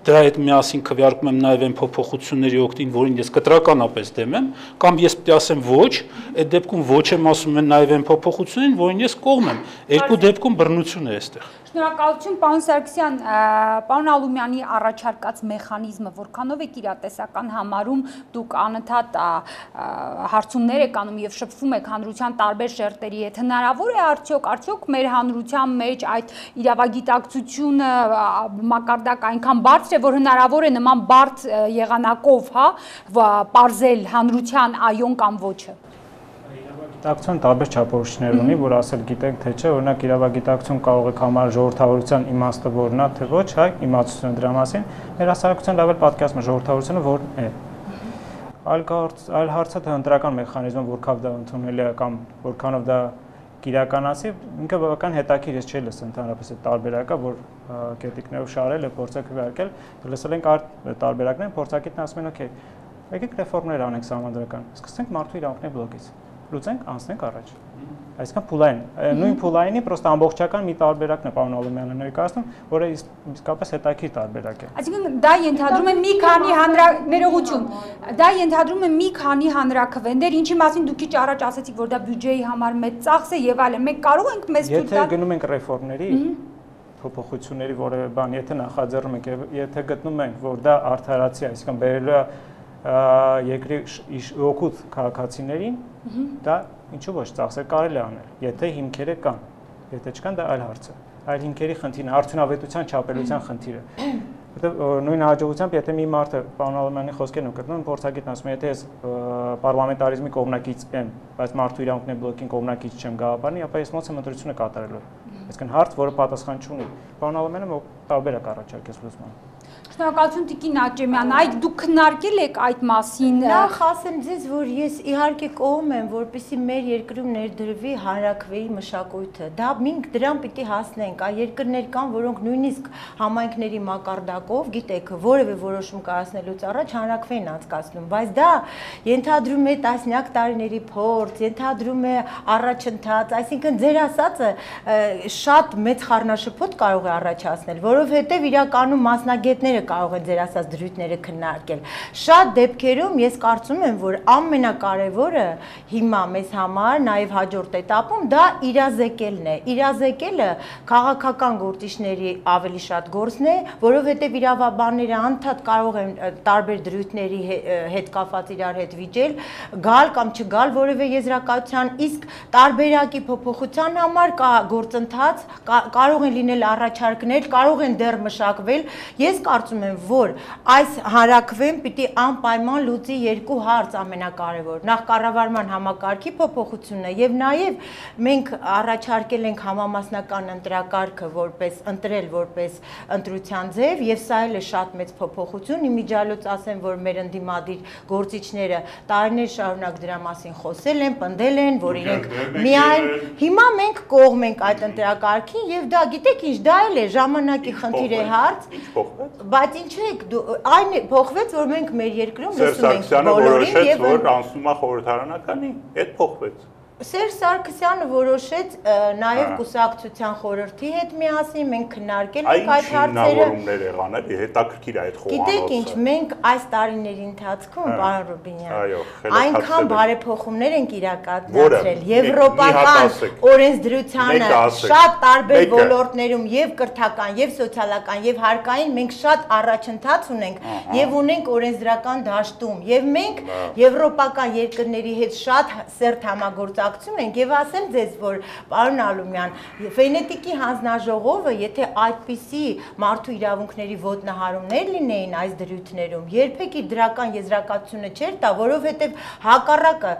դրա հետ միասին քվեարկում եմ նաև այն փոփոխությունների օգտին, որին ես կտրականապես դեմ եմ, կամ ես պետք է ասեմ ոչ, այդ դեպքում ոչ եմ ասում են նաև այն փոփոխություններին, որին ես կողմ եմ։ Երկու դեպքում բռնություն է այստեղ։ Շնորհակալություն, պարոն Սարգսյան, պարոն Ալումյանի առաջարկած մեխանիզմը որքանով եք իրատեսական համարում, դուք անընդհատ հարցումներ եք անում եւ շփվում եք հանրության տարբեր շերտերի հետ, հնարավոր է արդյոք, արդյոք մեր հանրության մեջ այդ իրավագիտակցությունը մակարդակ այնքան բարձր է, որ հնարավոր է նման բարդ եղանակով, հա, պարզել հանրության այոն կամ ոչը։ Իրավագիտակցություն տարբեր չափորոշիչներ ունի, որ ասել գիտենք թե չէ, օրինակ իրավագիտակցություն կարող է համարել ժողովրդավարության իմաստը որն է, թե ոչ, հա, իմացությունը դրա մասին, մեր հասարակության լավ էլ պատկերացնում է ժողովրդավարությունը որն է։ Այլ այլ հարցը թե ընտրական մեխանիզմը որքանով դա ընդունելի է կամ որքանով դա կիրականացի, ինքը բավական հետաքրքիր է, չէ՞ լսել ընդհանրապես այդ տարբերակը, որ կետիկներով շարել է, փորձել քվեարկել, լսել ենք այդ տարբերակները, փորձակիցն ասում են, օքեյ, եկեք ռեֆորմներ անենք սահմանադրական, սկսենք մարդու իրավունքների բլոկից, լուծենք, անցնենք առաջ։ Այսինքն փուլային, նույն փուլայինի պրոստը ամբողջական մի տարբերակն է պարոն Ալումյանը ներկայացնում, որը իսկապես հետաքրքիր տարբերակ է։ Այսինքն դա ենթադրում է մի քանի հանրա ներողություն, դա ենթադրում է մի քանի հանրաքվեներ, ինչի մասին դուք քիչ առաջ ասացիք, որ դա բյուջեի համար մեծ ծախս է եւ այլն։ Մենք կարող ենք մեզ թույլ տալ։ Եթե գնում ենք ռեֆորմների, փոփոխությունների որևէ բան, եթե նախաձեռնում ենք եւ եթե գտնում ենք, որ դա արդարացի, այսինքն բերելու է երկրի օգուտ քաղաքացիներին, դա ինչու ոչ ծախսեր կարելի անել, եթե հիմքերը կան, եթե չկան դա այլ հարց է, այլ հիմքերի խնդիրն է, արդյունավետության չափելության խնդիրը, որտեղ նույն հաջողությամբ եթե մի մարդը պարոն Ալումյանի խոսքերն ու կրկնում, փորձագետն ասում է, եթե ես պարլամենտարիզմի կողմնակից եմ, բայց մարդու իրավունքների բլոկին կողմնակից չեմ գաղափարի, ապա ես ոնց եմ ընտրությունը կատարելու։ Այսինքն հարց, որը պատասխան չունի։ Պարոն Ալումյանը տարբերակ առաջարկեց լուծման։ Շնորհակալություն Տիկին Աճեմյան, այդ դուք քննարկել եք այդ մասին։ Նախ ասեմ ձեզ, որ ես իհարկե կողմ եմ, որպեսզի մեր երկրում ներդրվի հանրաքվեի մշակույթը։ Դա մենք դրան պիտի հասնենք։ Այ երկրներ կան, որոնք նույնիսկ համայնքների մակարդակով, գիտեք, որևէ որոշում կայացնելուց առաջ հանրաքվե են անցկացնում, բայց դա ենթադրում է տասնյակ տարիների փորձ, ենթադրում է առաջընթաց, այսինքն ձեր ասածը շատ մեծ խառնաշփոթ կարող է առաջացնել, որով որովհետև իրականում մասնագետները կարող են ձեր ասած դրույթները քննարկել։ Շատ դեպքերում ես կարծում եմ, որ ամենակարևորը հիմա մեզ համար, նաև հաջորդ этаպում դա իրազեկելն է։ Իրազեկելը քաղաքական գործիչների ավելի շատ գործն է, որովհետև իրավաբանները անդադ կարող են տարբեր դրույթների հետ կապված իրար հետ վիճել, գալ կամ չգալ որևէ եզրակացության, իսկ տարբերակի փոփոխության համար կա գործընթաց, կարող են լինել առաջարկներ, կարող են դեռ մշակվել։ Ես կարծում եմ, որ այս հանրաքվեն պիտի անպայման լուծի երկու հարց ամենակարևոր։ Նախ կառավարման համակարգի փոփոխությունը եւ նաեւ մենք առաջարկել ենք համամասնական ընտրակարգը որպես ընտրել որպես ընտրության ձև եւ սա էլ է շատ մեծ փոփոխություն։ Իմիջիալոց ասեմ, որ մեր ընդդիմադիր գործիչները տարիներ շարունակ դրա մասին խոսել են, պնդել են, որ իրենք միայն հիմա մենք կողմ ենք այդ ընտրակարգին եւ դա գիտեք ինչ, դա էլ է ժամանակի խնդիր է հարց, բայց ինչ եք այն փոխվեց, որ մենք մեր երկրում լսում ենք բոլորին եւ որ անցնում է խորհրդարանականի, այդ փոխվեց։ Սերժ Սարգսյանը որոշեց նաև կուսակցության խորհրդի հետ միասին մենք քննարկել ենք այդ հարցերը։ Հիմնավորումներ եղան, էլի հետաքրքիր է այդ խոհանոցը։ Գիտեք ինչ, մենք այս տարիների ընթացքում, պարոն Ռուբինյան, այնքան բարեփոխումներ ենք իրականացրել եվրոպական օրենսդրությանը շատ տարբեր ոլորտներում եւ կրթական, եւ սոցիալական, եւ հարկային մենք շատ առաջընթաց ունենք եւ ունենք օրենսդրական դաշտում եւ մենք եվրոպական երկրների հետ շատ սերտ համագործակցություն ենք եւ ասեմ ձեզ, որ պարոն Ալումյան, Վենետիկի հանձնաժողովը, եթե այդպիսի մարդու իրավունքների ոտնահարումներ լինեին այս դրույթներում, երբեք իր դրական եզրակացությունը չէր տա, որովհետեւ հակառակը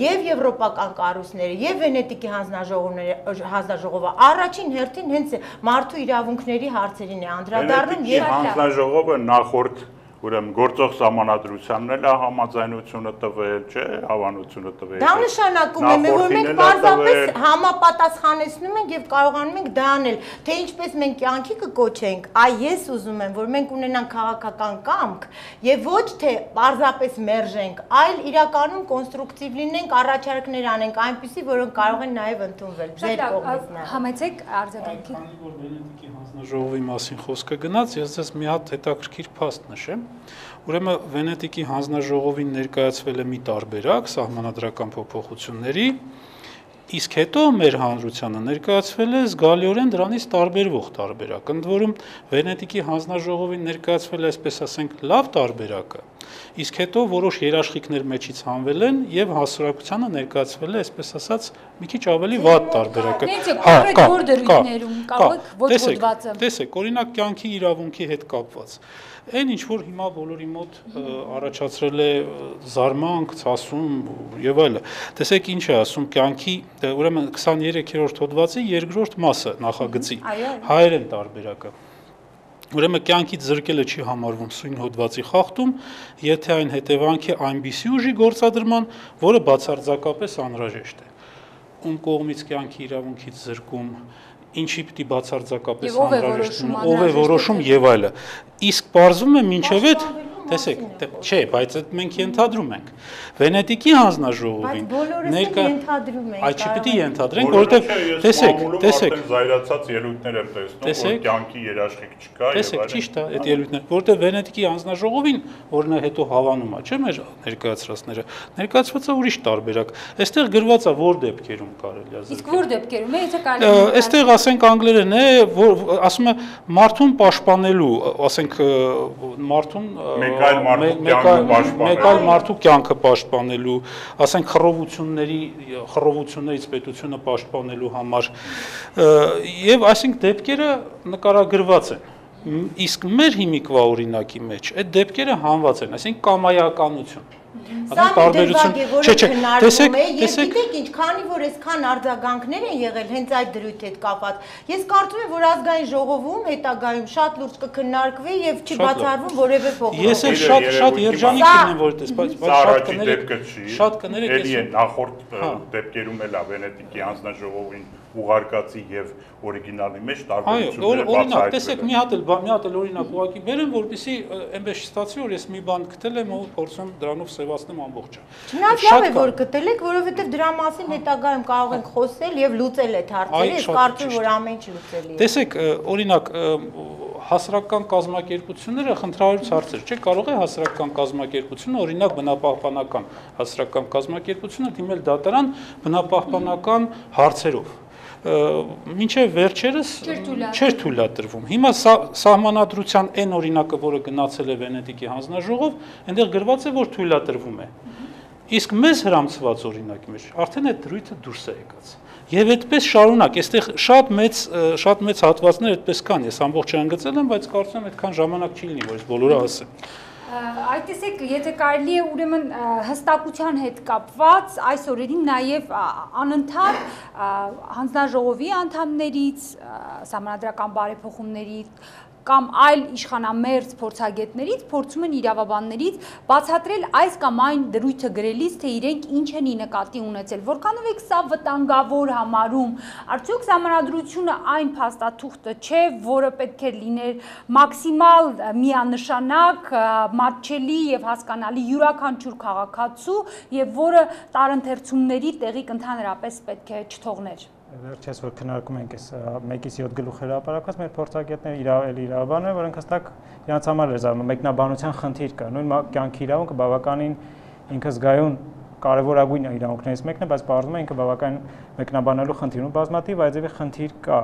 եւ եվրոպական կառույցները եւ Վենետիկի հանձնաժողովները հանձնաժողովը առաջին հերթին հենց մարդու իրավունքների հարցերին է անդրադառնում եւ հանձնաժողովը նախորդ Ուրեմն գործող սահմանադրությանն էլ համաձայնությունը տվել, չէ, հավանությունը տվել։ Դա նշանակում է, որ մենք պարզապես համապատասխանեցնում ենք եւ կարողանում ենք դա անել, թե ինչպես մենք կյանքի կկոչենք, այ ես ուզում եմ, որ մենք ունենանք քաղաքական կամք եւ ոչ թե պարզապես մերժենք, այլ իրականում կոնստրուկտիվ լինենք, առաջարկներ անենք այնպիսի, որոնք կարող են նաեւ ընդունվել ձեր կողմից։ Համեցեք արձագանքի։ Քանի որ Վենետիկի հանձնաժողովի մասին խոսքը գնաց, ես ձեզ մի հատ հետաքրքիր փաստ նշեմ։ Ուրեմն Վենետիկի հանձնաժողովին ներկայացվել է մի տարբերակ սահմանադրական փոփոխությունների, իսկ հետո մեր հանրությանը ներկայացվել է զգալիորեն դրանից տարբերվող տարբերակ։ Ընդ որում Վենետիկի հանձնաժողովին ներկայացվել է, այսպես ասենք, լավ տարբերակը, իսկ հետո որոշ երաշխիքներ մեջից հանվել են եւ հասարակությանը ներկայացվել է, այսպես ասած, մի քիչ ավելի վատ տարբերակը։ Հա, կա, դրույթներում կարող եք ոչ հոդվածը։ Տեսեք, օրինակ կյանքի իրավունքի հետ կապված Այն ինչ որ հիմա բոլորի մոտ առաջացրել է զարմանք, ցասում եւ այլը։ Տեսեք ինչ է ասում կյանքի, ուրեմն քսաներեքերորդ հոդվածի երկրորդ մասը նախագծի հայերեն տարբերակը։ Ուրեմն կյանքից զրկելը չի համարվում սույն հոդվածի խախտում, եթե այն հետևանք է այնպիսի ուժի գործադրման, որը բացարձակապես անհրաժեշտ է։ Ում կողմից կյանքի իրավունքից զրկում ինչի պիտի բացարձակապես անհրաժեշտ է, ով է որոշում եւ այլը։ Իսկ բարձվում է մինչև այդ, տեսեք, չէ, բայց այդ մենք ենթադրում ենք։ Վենետիկի հանձնաժողովին ներկա ենթադրում ենք։ Այդ չպիտի ենթադրենք, որովհետեւ տեսեք, տեսեք, զայրացած ելույթներ եմ տեսնում, որ կյանքի երաշխիք չկա եւ այլն։ Տեսեք, ճիշտ է, այդ ելույթները, որովհետեւ Վենետիկի հանձնաժողովին, որն է հետո հավանում է, չէ՞, մեր ներկայացրածները, ներկայացված է ուրիշ տարբերակ։ Այստեղ գրված է որ դեպքերում կարելի է զրկել։ Իսկ որ դեպքերում է, եթե կարելի է։ Այստեղ ասենք անգլերեն է, որ ասում է մարդուն պաշտպանելու, ասենք մարդուն մեկ այլ մարդու կյանքը պաշտպանելու, ասենք խռովությունների, խռովություններից պետությունը պաշտպանելու համար, եւ այսինքն դեպքերը նկարագրված են։ Իսկ մեր հիմիկվա օրինակի մեջ այդ դեպքերը հանված են, այսինքն կամայականություն։ Սա տարբերություն չէ, չէ, տեսեք, տեսեք, գիտեք ինչ, քանի որ այսքան արձագանքներ են եղել հենց այդ դրույթի հետ կապված, ես կարծում եմ, որ ազգային ժողովում հետագայում շատ լուրջ կքննարկվի եւ չբացառվում որևէ փոխանցում։ Ես էլ շատ շատ երջանիկ կլինեմ, որ դες, բայց շատ կներեք, շատ կներեք, էլի են նախորդ դեպքերում էլ է Վենետիկի հանձնաժողովին ուղարկածի եւ օրիգինալի մեջ տարբերությունները բացահայտվել են։ Օրինակ, տեսեք, մի հատ էլ մի հատ էլ օրինակ ուղակի բերեմ, որպեսզի այնպես չստացվի, որ ես մի բան գտել եմ ու փորձում դրանով սևացնեմ ամբողջը։ Չնայած լավ է որ գտել եք, որովհետեւ դրա մասին հետագայում կարող ենք խոսել եւ լուծել այդ հարցերը, ես կարծում եմ, որ ամեն ինչ լուծելի է։ Տեսեք, օրինակ հասարակական կազմակերպությունները խնդրահարույց հարցեր, չէ, կարող է հասարակական կազմակերպությունը, օրինակ բնապահպանական հասարակական կազմակերպությունը դիմել դատարան բնապահպանական հարցերով։ Մինչև վերջերս չէր թույլատրվում։ Հիմա սահմանադրության այն օրինակը, որը գնացել է Վենետիկի հանձնաժողով, այնտեղ գրված է, որ թույլատրվում է։ Իսկ մեզ հրամցված օրինակի մեջ արդեն այդ դրույթը դուրս է եկած։ Եվ այդպես շարունակ, այստեղ շատ մեծ շատ մեծ հատվածներ այդպես կան, ես ամբողջ չհանգծել եմ, բայց կարծում եմ այդքան ժամանակ չի լինի, որ ես բոլորը ասեմ։ Այդ տեսեք, եթե կարելի է ուրեմն հստակության հետ կապված այս օրերին նաև անընդհատ հանձնաժողովի անդամներից, սահմանադրական բարեփոխումներից կամ այլ իշխանամերձ փորձագետներից փորձում են իրավաբաններից բացատրել այս կամ այն դրույթը գրելիս, թե իրենք ինչ են ի նկատի ունեցել, որքանով եք սա վտանգավոր համարում, արդյոք սահմանադրությունը այն փաստաթուղթը չէ, որը պետք է լիներ մաքսիմալ միանշանակ, մատչելի եւ հասկանալի յուրաքանչյուր քաղաքացու եւ որը տարընթերցումների տեղիք ընդհանրապես պետք է չթողներ։ Վերջերս որ քննարկում ենք այս մեկից յոթ գլուխ հրապարակած մեր փորձագետները իրավել իրավաբաններ, որոնք հստակ իրանց համար էր զարմանում, մեկնաբանության խնդիր կա, նույն կյանքի իրավունքը բավականին ինքը զգայուն կարևորագույն իրավունքներից մեկն է, բայց բարձրում է ինքը բավականին մեկնաբանելու խնդիր ու բազմաթիվ այդևի խնդիր կա։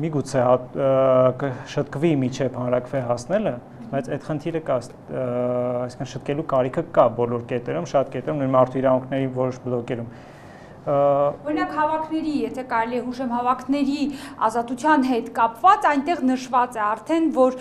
Միգուցե շտկվի միջև հանրակրվե հասնելը, բայց այդ խնդիրը կա, այսինքն շտկելու կարիքը կա բոլոր կետերում, շատ կետերում, նույն մարդու իրավունքների որոշ բլոկերում։ Օրինակ հավաքների, եթե կարելի է հուշեմ հավաքների ազատության հետ կապված, այնտեղ նշված է արդեն, որ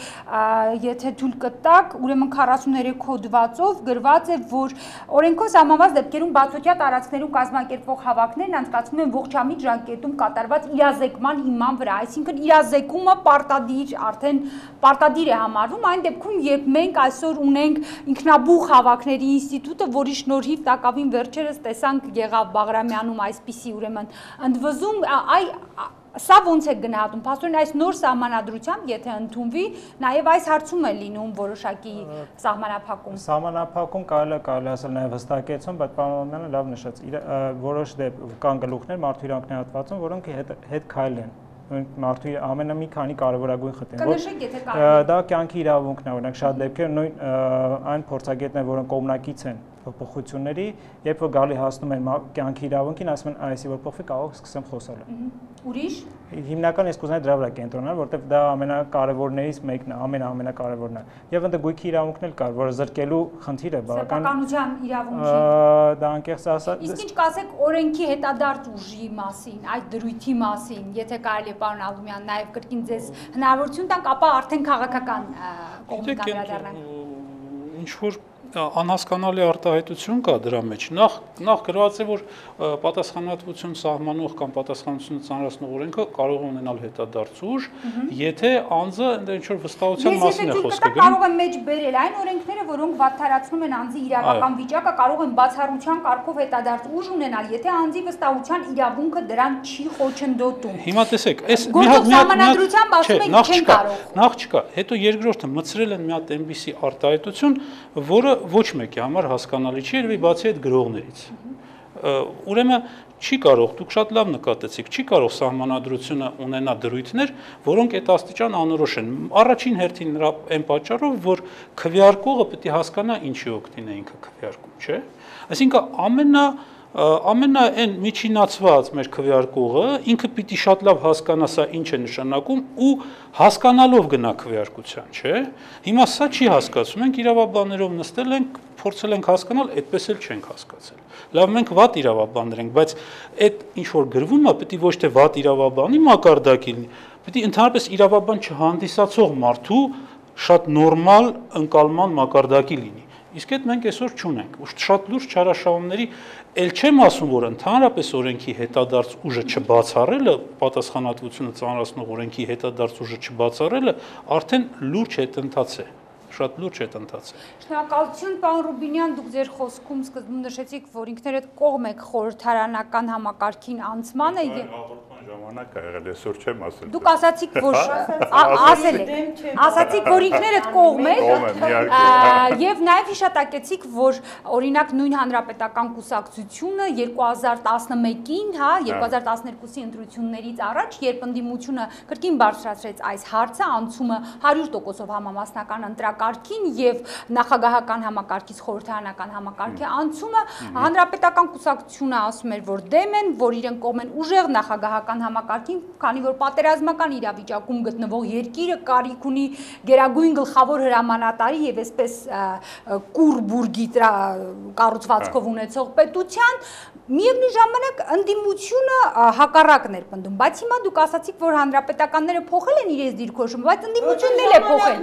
եթե թույլ կտակ, ուրեմն քառասուններեք հոդվածով գրված է, որ օրենքով սահմանված դեպքերում բացօթյա տարածքներում կազմակերպվող հավաքներն անցկացվում են ողջամիտ ժամկետում կատարված իրազեկման հիման վրա, այսինքն իրազեկումը պարտադիր, արդեն պարտադիր է համարվում այն դեպքում, երբ մենք այսօր ունենք ինքնաբուխ հավաքների ինստիտուտը, որի շնորհիվ տակավին վերջերս տեսանք Գեղավ Բաղրամյանում այսպիսի ուրեմն ընդվզում, այ սա ոնց է գնահատում, փաստորեն այս նոր սահմանադրությամբ, եթե ընդունվի, նաև այս հարցում է լինում որոշակի սահմանափակում։ Սահմանափակում կարելի է կարելի ասել նաև հստակեցում, բայց պարոն Օմյանը լավ նշեց, որոշ կան գլուխներ մարդու իրավունքների հատվածում, որոնք հետ քայլ են։ Մարդու ամենը մի քանի կարևորագույն խնդիր։ Դա կյանքի իրավունքն է, օրինակ շատ դեպքեր նույն այն փորձագետներ, որոնք կողմնակից են փոփոխությունների, երբ որ գալի հասնում են կյանքի իրավունքին, ասում են, այսի որ փոխվի, կարող սկսեմ խոսել։ Ուրիշ։ Հիմնական ես կուզենայի դրա վրա կենտրոնանալ, որովհետև դա ամենակարևորներից մեկն է, ամենաամենակարևորն է։ Եվ ընդ գույքի իրավունքն էլ կար, որը զրկելու խնդիր է բավական։ Սեփականության իրավունքի։ Դա անկեղծ ասած։ Իսկ ինչ կասեք օրենքի հետադարձ ուժի մասին, այդ դրույթի մասին, եթե կարելի է պարոն Ալումյան նաև կրկին ձեզ հնարավորություն տանք, ապա արդեն քաղաքական կողմից անդրադառնանք։ Ինչ որ անհասկանալի արտահայտություն կա դրա մեջ։ Նախ նախ գրված է, որ պատասխանատվություն սահմանող կամ պատասխանատվությունը ծանրացնող օրենքը կարող է ունենալ հետադարձ ուժ, եթե անձը ինչ որ վստահության մասին է խոսքը գրում։ Կարող է մեջ բերել այն օրենքները, որոնք վատթարացնում են անձի իրավական վիճակը, կարող են բացառության կարգով հետադարձ ուժ ունենալ, եթե անձի վստահության իրավունքը դրան չի խոչընդոտում։ Հիմա տեսեք, այս մի հատ սահմանադրությամբ ասում են չեն կարող։ Նախ չկա, հետո երկրորդը մցրել են մի հատ այնպիսի արտահայտություն, որը ոչ մեկի համար հասկանալի չի, երևի բացի այդ գրողներից։ Ուրեմն չի կարող, դուք շատ լավ նկատեցիք, չի կարող սահմանադրությունը ունենա դրույթներ, որոնք այդ աստիճան անորոշ են։ Առաջին հերթին նրա այն պատճառով, որ քվեարկողը պետք է հասկանա ինչի օգտին է ինքը քվեարկում, չէ՞։ Այսինքն ամենա ամենա այն միջինացված մեր քվեարկողը ինքը պիտի շատ լավ հասկանա սա ինչ է նշանակում ու հասկանալով գնա քվեարկության, չէ՞։ Հիմա սա չի հասկացում, մենք իրավաբաններով նստել ենք, փորձել ենք հասկանալ, այդպես էլ չենք հասկացել։ Լավ, մենք վատ իրավաբաններ ենք, բայց այդ ինչ որ գրվում է, պետք է ոչ թե վատ իրավաբանի մակարդակի լինի, պետք է ընդհանրապես իրավաբան չհանդիսացող մարդու շատ նորմալ ընկալման մակարդակի լինի։ Իսկ այդ մենք այսօր չունենք։ Ու շատ լուրջ չարաշահումների էլ չեմ ասում, որ ընդհանրապես օրենքի հետադարձ ուժը չբացառելը, պատասխանատվությունը ծանրացնող օրենքի հետադարձ ուժը չբացառելը արդեն լուրջ հետընթաց է։ Շատ լուրջ հետընթաց է։ Շնորհակալություն, պարոն Ռուբինյան, դուք ձեր խոսքում սկզբում նշեցիք, որ ինքներդ կողմ եք խորհրդարանական համակարգին անցմանը եւ Ժամանակ ա եղել, այսօր չեմ ասել։ Դուք ասացիք, որ ասել եք, ասացիք, որ ինքներդ կողմ եք, եւ նաեւ հիշատակեցիք, որ օրինակ նույն հանրապետական կուսակցությունը երկու հազար տասնմեկին, հա, երկու հազար տասներկուսի ընտրություններից առաջ, երբ ընդդիմությունը կրկին բարձրացրեց այս հարցը, անցումը հարյուր տոկոսով համամասնական ընտրակարգին եւ նախագահական համակարգից խորհրդարանական համակարգի անցումը, հանրապետական կուսակցությունը ասում էր, որ դեմ են, որ իրենք կողմ են ուժեղ նախագահական համակարգին, քանի որ պատերազմական իրավիճակում գտնվող երկիրը կարիք ունի գերագույն գլխավոր հրամանատարի եւ այսպես կուրբուրգի կառուցվածքով ունեցող պետության, միևնույն ժամանակ ընդդիմությունը հակառակն էր պնդում, բայց հիմա դուք ասացիք, որ հանրապետականները փոխել են իրենց դիրքորոշումը, բայց ընդդիմությունն էլ է փոխել։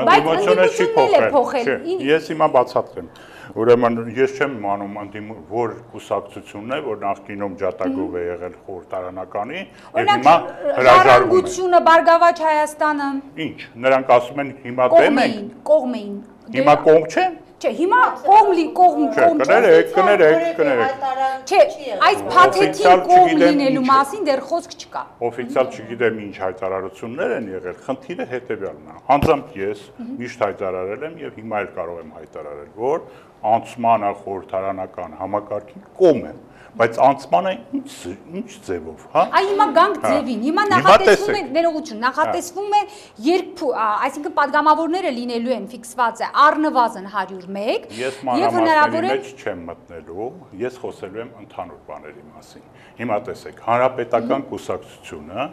Բայց ընդդիմությունն էլ է փոխել։ Ես հիմա բացատրեմ։ Ուրեմն ես չեմ իմանում ընդդիմ որ կուսակցությունն է, որ նախկինում ջատագով է եղել խորհրդարանականի եւ հիմա հրաժարվում է։ Բարգավաճ Հայաստանը։ Ինչ, նրանք ասում են հիմա դեմ են։ Կողմ էին։ Հիմա կողմ չեն։ Չէ, հիմա կողմ լի կողմ կողմ կներեք, կներեք, կներեք։ Չէ, այս փաթեթիկ կողմ լինելու մասին դեռ խոսք չկա։ Օֆիցիալ չգիտեմ ինչ հայտարարություններ են եղել, խնդիրը հետեւյալն է։ Անձամբ ես միշտ հայտարարել եմ եւ հիմա էլ կարող եմ հայտարարել, որ անցմանը խորհրդարանական համակարգին կողմ եմ, բայց անցմանը ինչ ինչ ձևով, հա։ Այ հիմա գանք ձևին, հիմա նախատեսվում է ներողություն, նախատեսվում է երբ, այսինքն падգամավորները լինելու են ֆիքսված է առնվազն հարյուր մեկ եւ հնարավոր է մեջ չեմ մտնելու, ես խոսելու եմ ընդհանուր բաների մասին։ Հիմա տեսեք, հանրապետական կուսակցությունը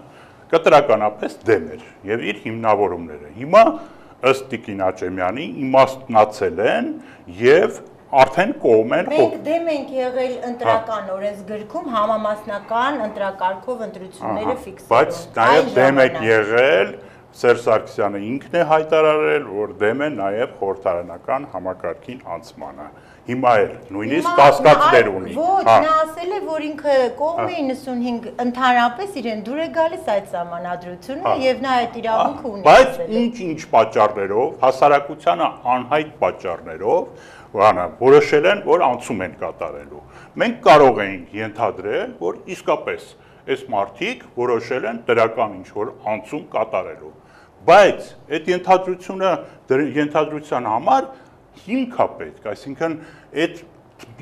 կտրականապես դեմ էր եւ իր հիմնավորումները։ Հիմա ըստ Տիկին Աճեմյանի իմաստնացել են եւ արդեն կողմ են։ Մենք դեմ ենք եղել ընտրական օրենսգրքում համամասնական ընտրակարգով ընտրությունները ֆիքսելու։ Բայց նաեւ դեմ եք եղել, Սերժ Սարգսյանը ինքն է հայտարարել, որ դեմ է նաեւ խորհրդարանական համակարգին անցմանը։ Հիմա էլ նույնիսկ կասկածներ ունի։ Ոչ, նա ասել է, որ ինքը կողմ է իննսունհինգ ընդհանրապես իրեն դուր է գալիս այդ սահմանադրությունը եւ նա այդ իրավունքը ունի։ Բայց ինչ-ինչ պատճառներով, հասարակությանը անհայտ պատճառներով Վանա, որոշել են, որ անցում են կատարելու։ Մենք կարող ենք ենթադրել, որ իսկապես այս մարդիկ որոշել են դրական ինչ-որ անցում կատարելու։ Բայց այդ ենթադրությունը ենթադրության համար հիմք է պետք, այսինքն այդ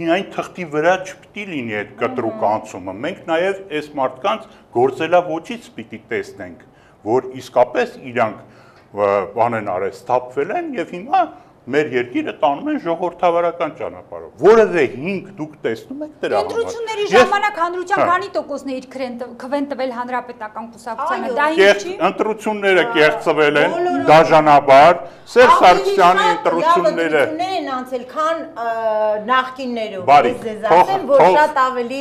միայն թղթի վրա չպիտի լինի այդ կտրուկ անցումը։ Մենք նաև այս մարդկանց գործելավոճից պիտի տեսնենք, որ իսկապես իրանք բան են արել, սթափվել են եւ հիմա մեր երկիրը տանում են ժողովրդավարական ճանապարհով։ Որևէ հիմք դուք տեսնում եք դրա համար։ Ընտրությունների ժամանակ հանրության քանի տոկոսն է իր քվեն տվել հանրապետական կուսակցությանը։ Դա ինչ չի։ Ընտրությունները կեղծվել են դաժանաբար, Սերժ Սարգսյանի ընտրությունները են անցել, քան նախկիններով։ Ես ձեզ ասեմ, որ շատ ավելի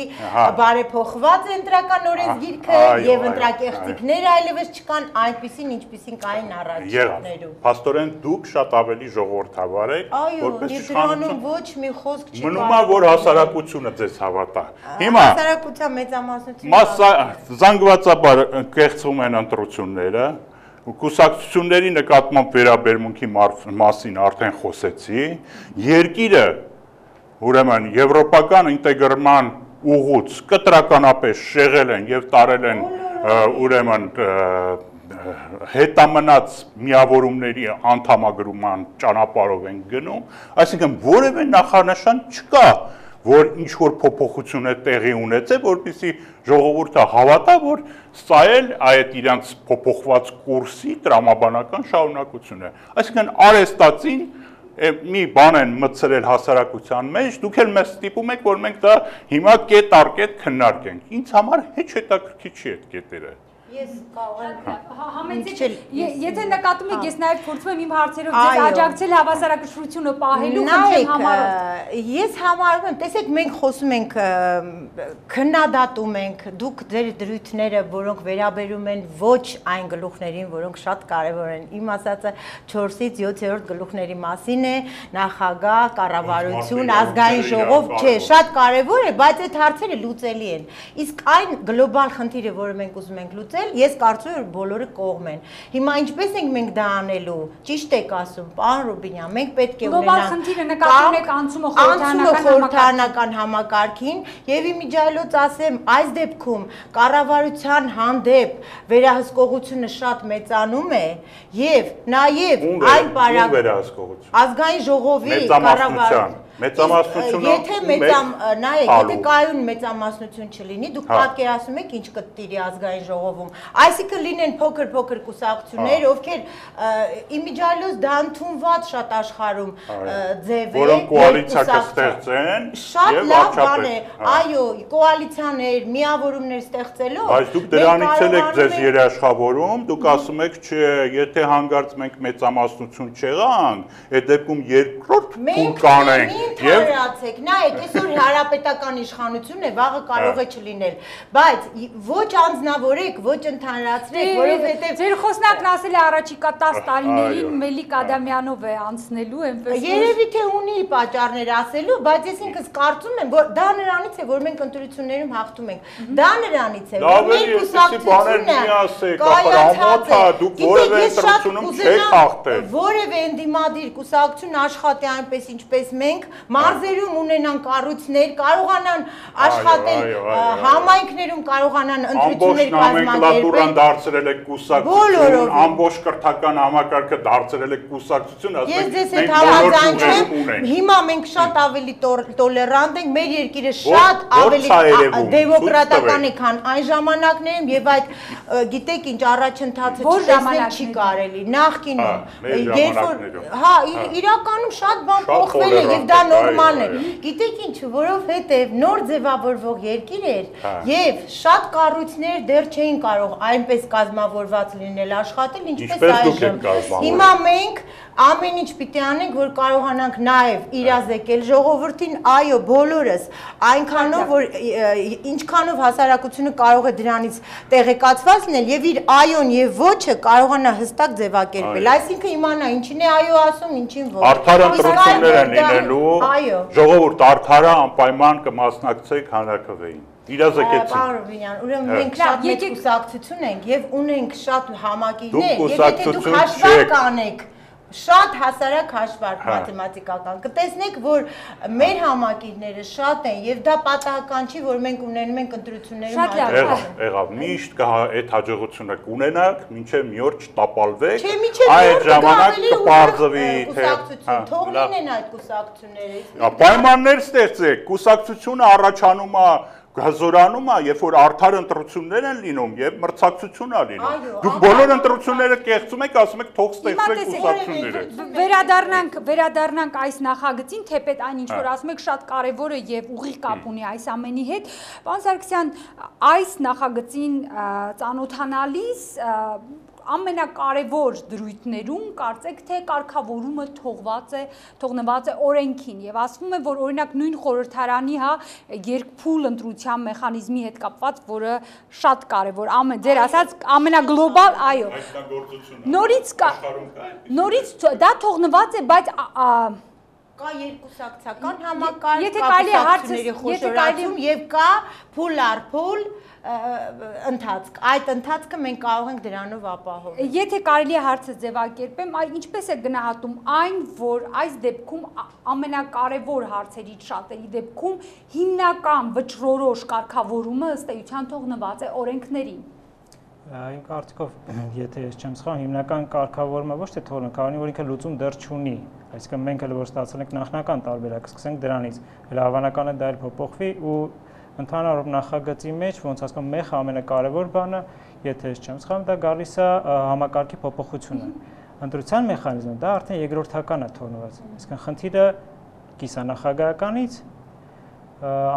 բարեփոխված է ընտրական օրենսգիրքը եւ ընտրակեղծիքները այլևս չկան այնպիսին, ինչպիսին կային առաջներում։ Փաստորեն դուք շատ ավելի ժողովրդավար եք, որպես իշխանություն ոչ մի խոսք չի։ Մնում է, որ հասարակությունը ձեզ հավատա։ Հիմա հասարակության մեծամասնությունը զանգվածաբար կեղծվում են ընտրությունները, կուսակցությունների նկատմամբ վերաբերմունքի մասին արդեն խոսեցի, երկիրը ուրեմն եվրոպական ինտեգրման ուղուց կտրականապես շեղել են եւ տարել են ուրեմն հետամնաց միավորումների անդամագրման ճանապարհով են գնում, այսինքն որևէ նախանշան չկա, որ ինչ որ փոփոխություն է տեղի ունեցել, որպեսզի ժողովուրդը հավատա, որ սա էլ այդ իրանց փոփոխված կուրսի տրամաբանական շարունակություն է։ Այսինքն արեստացին մի բան են մտցրել հասարակության մեջ, դուք էլ մեզ ստիպում եք, որ մենք դա հիմա կետ առ կետ քննարկենք։ Ինձ համար հեչ հետաքրքիր չի այդ կետերը։ Ես կարող եմ համեցեք, եթե նկատում եք, ես նաև փորձում եմ իմ հարցերով ձեզ աջակցել հավասարակշռությունը պահելու, խնդրեմ համարոտ։ Ես համարում եմ, տեսեք, մենք խոսում ենք, քննադատում ենք, դուք ձեր դրույթները, որոնք վերաբերում են ոչ այն գլուխներին, որոնք շատ կարևոր են։ Իմ ասածը չորսից յոթերորդ գլուխների մասին է, նախագահ, կառավարություն, ազգային ժողով, չէ, շատ կարևոր է, բայց այդ հարցերը լուծելի են։ Իսկ այն գլոբալ խնդիրը, որը մենք ուզում ենք լուծել, ստեղծել, ես կարծում եմ, որ բոլորը կողմ են։ Հիմա ինչպես ենք մենք դա անելու։ Ճիշտ եք ասում, պարոն Ռուբինյան, մենք պետք է գլոբալ խնդիրը նկատում եք անցումը խորհրդարանական համակարգին եւ իմիջիայլոց ասեմ, այս դեպքում կառավարության հանդեպ վերահսկողությունը շատ մեծանում է եւ նաեւ այն պարագ ազգային ժողովի կառավարության մեծամասնությունը եթե մեծամ նայեք, եթե կայուն մեծամասնություն չլինի, դուք պատկերացնում եք ինչ կտիրի ազգային ժողովում։ Այսինքն լինեն փոքր-փոքր կուսակցություններ, ովքեր իմիջիայլոց դա ընդունված շատ աշխարհում ձև է, որոնք կոալիցիա կստեղծեն, շատ լավ բան է, այո, կոալիցիաներ, միավորումներ ստեղծելով։ Բայց դուք դրանից էլ եք ձեզ երաշխավորում, դուք ասում եք, չէ, եթե հանգարց մենք մեծամասնություն չեղանք, այդ դեպքում երկրորդ փուլ կանենք։ Թարացեք, նայեք, այսօր հանրապետական իշխանությունն է, վաղը կարող է չլինել, բայց ոչ անձնավորեք, ոչ ընդհանրացրեք, որովհետև ձեր խոսնակն ասել է առաջիկա տասը տարիներին Մելիք Ադամյանով է անցնելու, այնպես երևի թե ունի պատճառներ ասելու, բայց ես ինքս կարծում եմ, որ դա նրանից է, որ մենք ընտրություններում հաղթում ենք, դա նրանից է, որ մեր կուսակցությունը որևէ ընդդիմադիր կուսակցություն աշխատի այնպես ինչպես մենք մարզերում ունենան կառույցներ, կարողանան աշխատել համայնքներում, կարողանան ընտրություններ կազմակերպել։ Դարձրել եք կուսակցություն, ամբողջ կրթական համակարգը դարձրել եք կուսակցություն, ասում եք ես այդ համաձայն չեմ։ Հիմա մենք շատ ավելի տոլերանտ ենք, մեր երկիրը շատ ավելի դեմոկրատական է, քան այն ժամանակներում եւ այդ գիտեք ինչ առաջընթացը չտեսնել չի կարելի։ Նախկինում երբ որ հա իրականում շատ բան փոխվել է եւ դա նորմալ է։ Գիտեք ինչ, որովհետեւ նոր ձևավորվող երկիր էր եւ շատ կառույցներ դեռ չէին կարող այնպես կազմավորված լինել աշխատել, ինչպես այժմ։ Հիմա մենք ամեն ինչ պիտի անենք, որ կարողանանք նաեւ իրազեկել ժողովրդին, այո, բոլորս, այնքանով որ ինչքանով հասարակությունը կարող է դրանից տեղեկացված լինել եւ իր այոն եւ ոչը կարողանա հստակ ձևակերպել։ Այսինքն իմանա ինչին է այո ասում, ինչին ոչ։ Արդար ընտրություններ են լինելու, ժողովուրդ արդարը անպայման կմասնակցեք հանրաքվեին։ Իրազեկեցին։ Պարոն Ռուբինյան, ուրեմն մենք շատ մեծ կուսակցություն ենք եւ ունենք շատ համակիրներ, եւ եթե դուք հաշվարկ անեք շատ հասարակ հաշվարկ մաթեմատիկական կտեսնեք, որ մեր համակիրները շատ են եւ դա պատահական չի, որ մենք ունենում ենք ընտրություններում հաջողություն։ Եղավ, միշտ կա այդ հաջողությունը կունենաք, մինչեւ մի օր չտապալվեք, այդ ժամանակ կպարզվի թե թող լինեն այդ կուսակցությունները։ Պայմաններ ստեղծեք, կուսակցությունը առաջանում է Գազորանում է, երբ որ արդար ընտրություններ են լինում եւ մրցակցություն է լինում։ Դուք բոլոր ընտրությունները կեղծում եք, ասում եք թող ստեղծեք կուսակցությունները։ Վերադառնանք, վերադառնանք այս նախագծին, թեպետ այն ինչ որ ասում եք շատ կարեւոր է եւ ուղիղ կապ ունի այս ամենի հետ։ Պարոն Սարգսյան, այս նախագծին ծանոթանալիս ամենակարևոր դրույթներում կարծեք թե կարգավորումը թողված է, թողնված է օրենքին եւ ասվում է, որ օրինակ նույն խորհրդարանի հա երկփուլ ընտրության մեխանիզմի հետ կապված, որը շատ կարևոր, ամեն ձեր ասած ամենագլոբալ, այո։ Նորից կա, նորից դա թողնված է, բայց կա երկուսակցական համակարգ, կա կուսակցությունների խոշորացում եւ կա փուլ առ փուլ ընթացք, այդ ընթացքը մենք կարող ենք դրանով ապահովել։ Եթե կարելի է հարցը ձևակերպեմ, ինչպես է գնահատում այն, որ այս դեպքում ամենակարևոր հարցերից շատերի դեպքում հիմնական վճռորոշ կարգավորումը ըստ էության թողնված է օրենքներին։ Իմ կարծիքով, եթե ես չեմ սխալվում, հիմնական կարգավորումը ոչ թե թողնենք, քանի որ ինքը լուծում դեռ չունի, այսինքն մենք էլ որ ստացել ենք նախնական տարբերակ, սկսենք դրանից, հələ հավանական է դա էլ փոփոխվի ու ընդհանրով նախագծի մեջ ոնց ասում մեխ ամենակարևոր բանը, եթե ես չեմ սխալվում, դա գալիս է համակարգի փոփոխությունը։ Ընտրության մեխանիզմը դա արդեն երկրորդական է թողնված։ Այսինքն խնդիրը կիսանախագահականից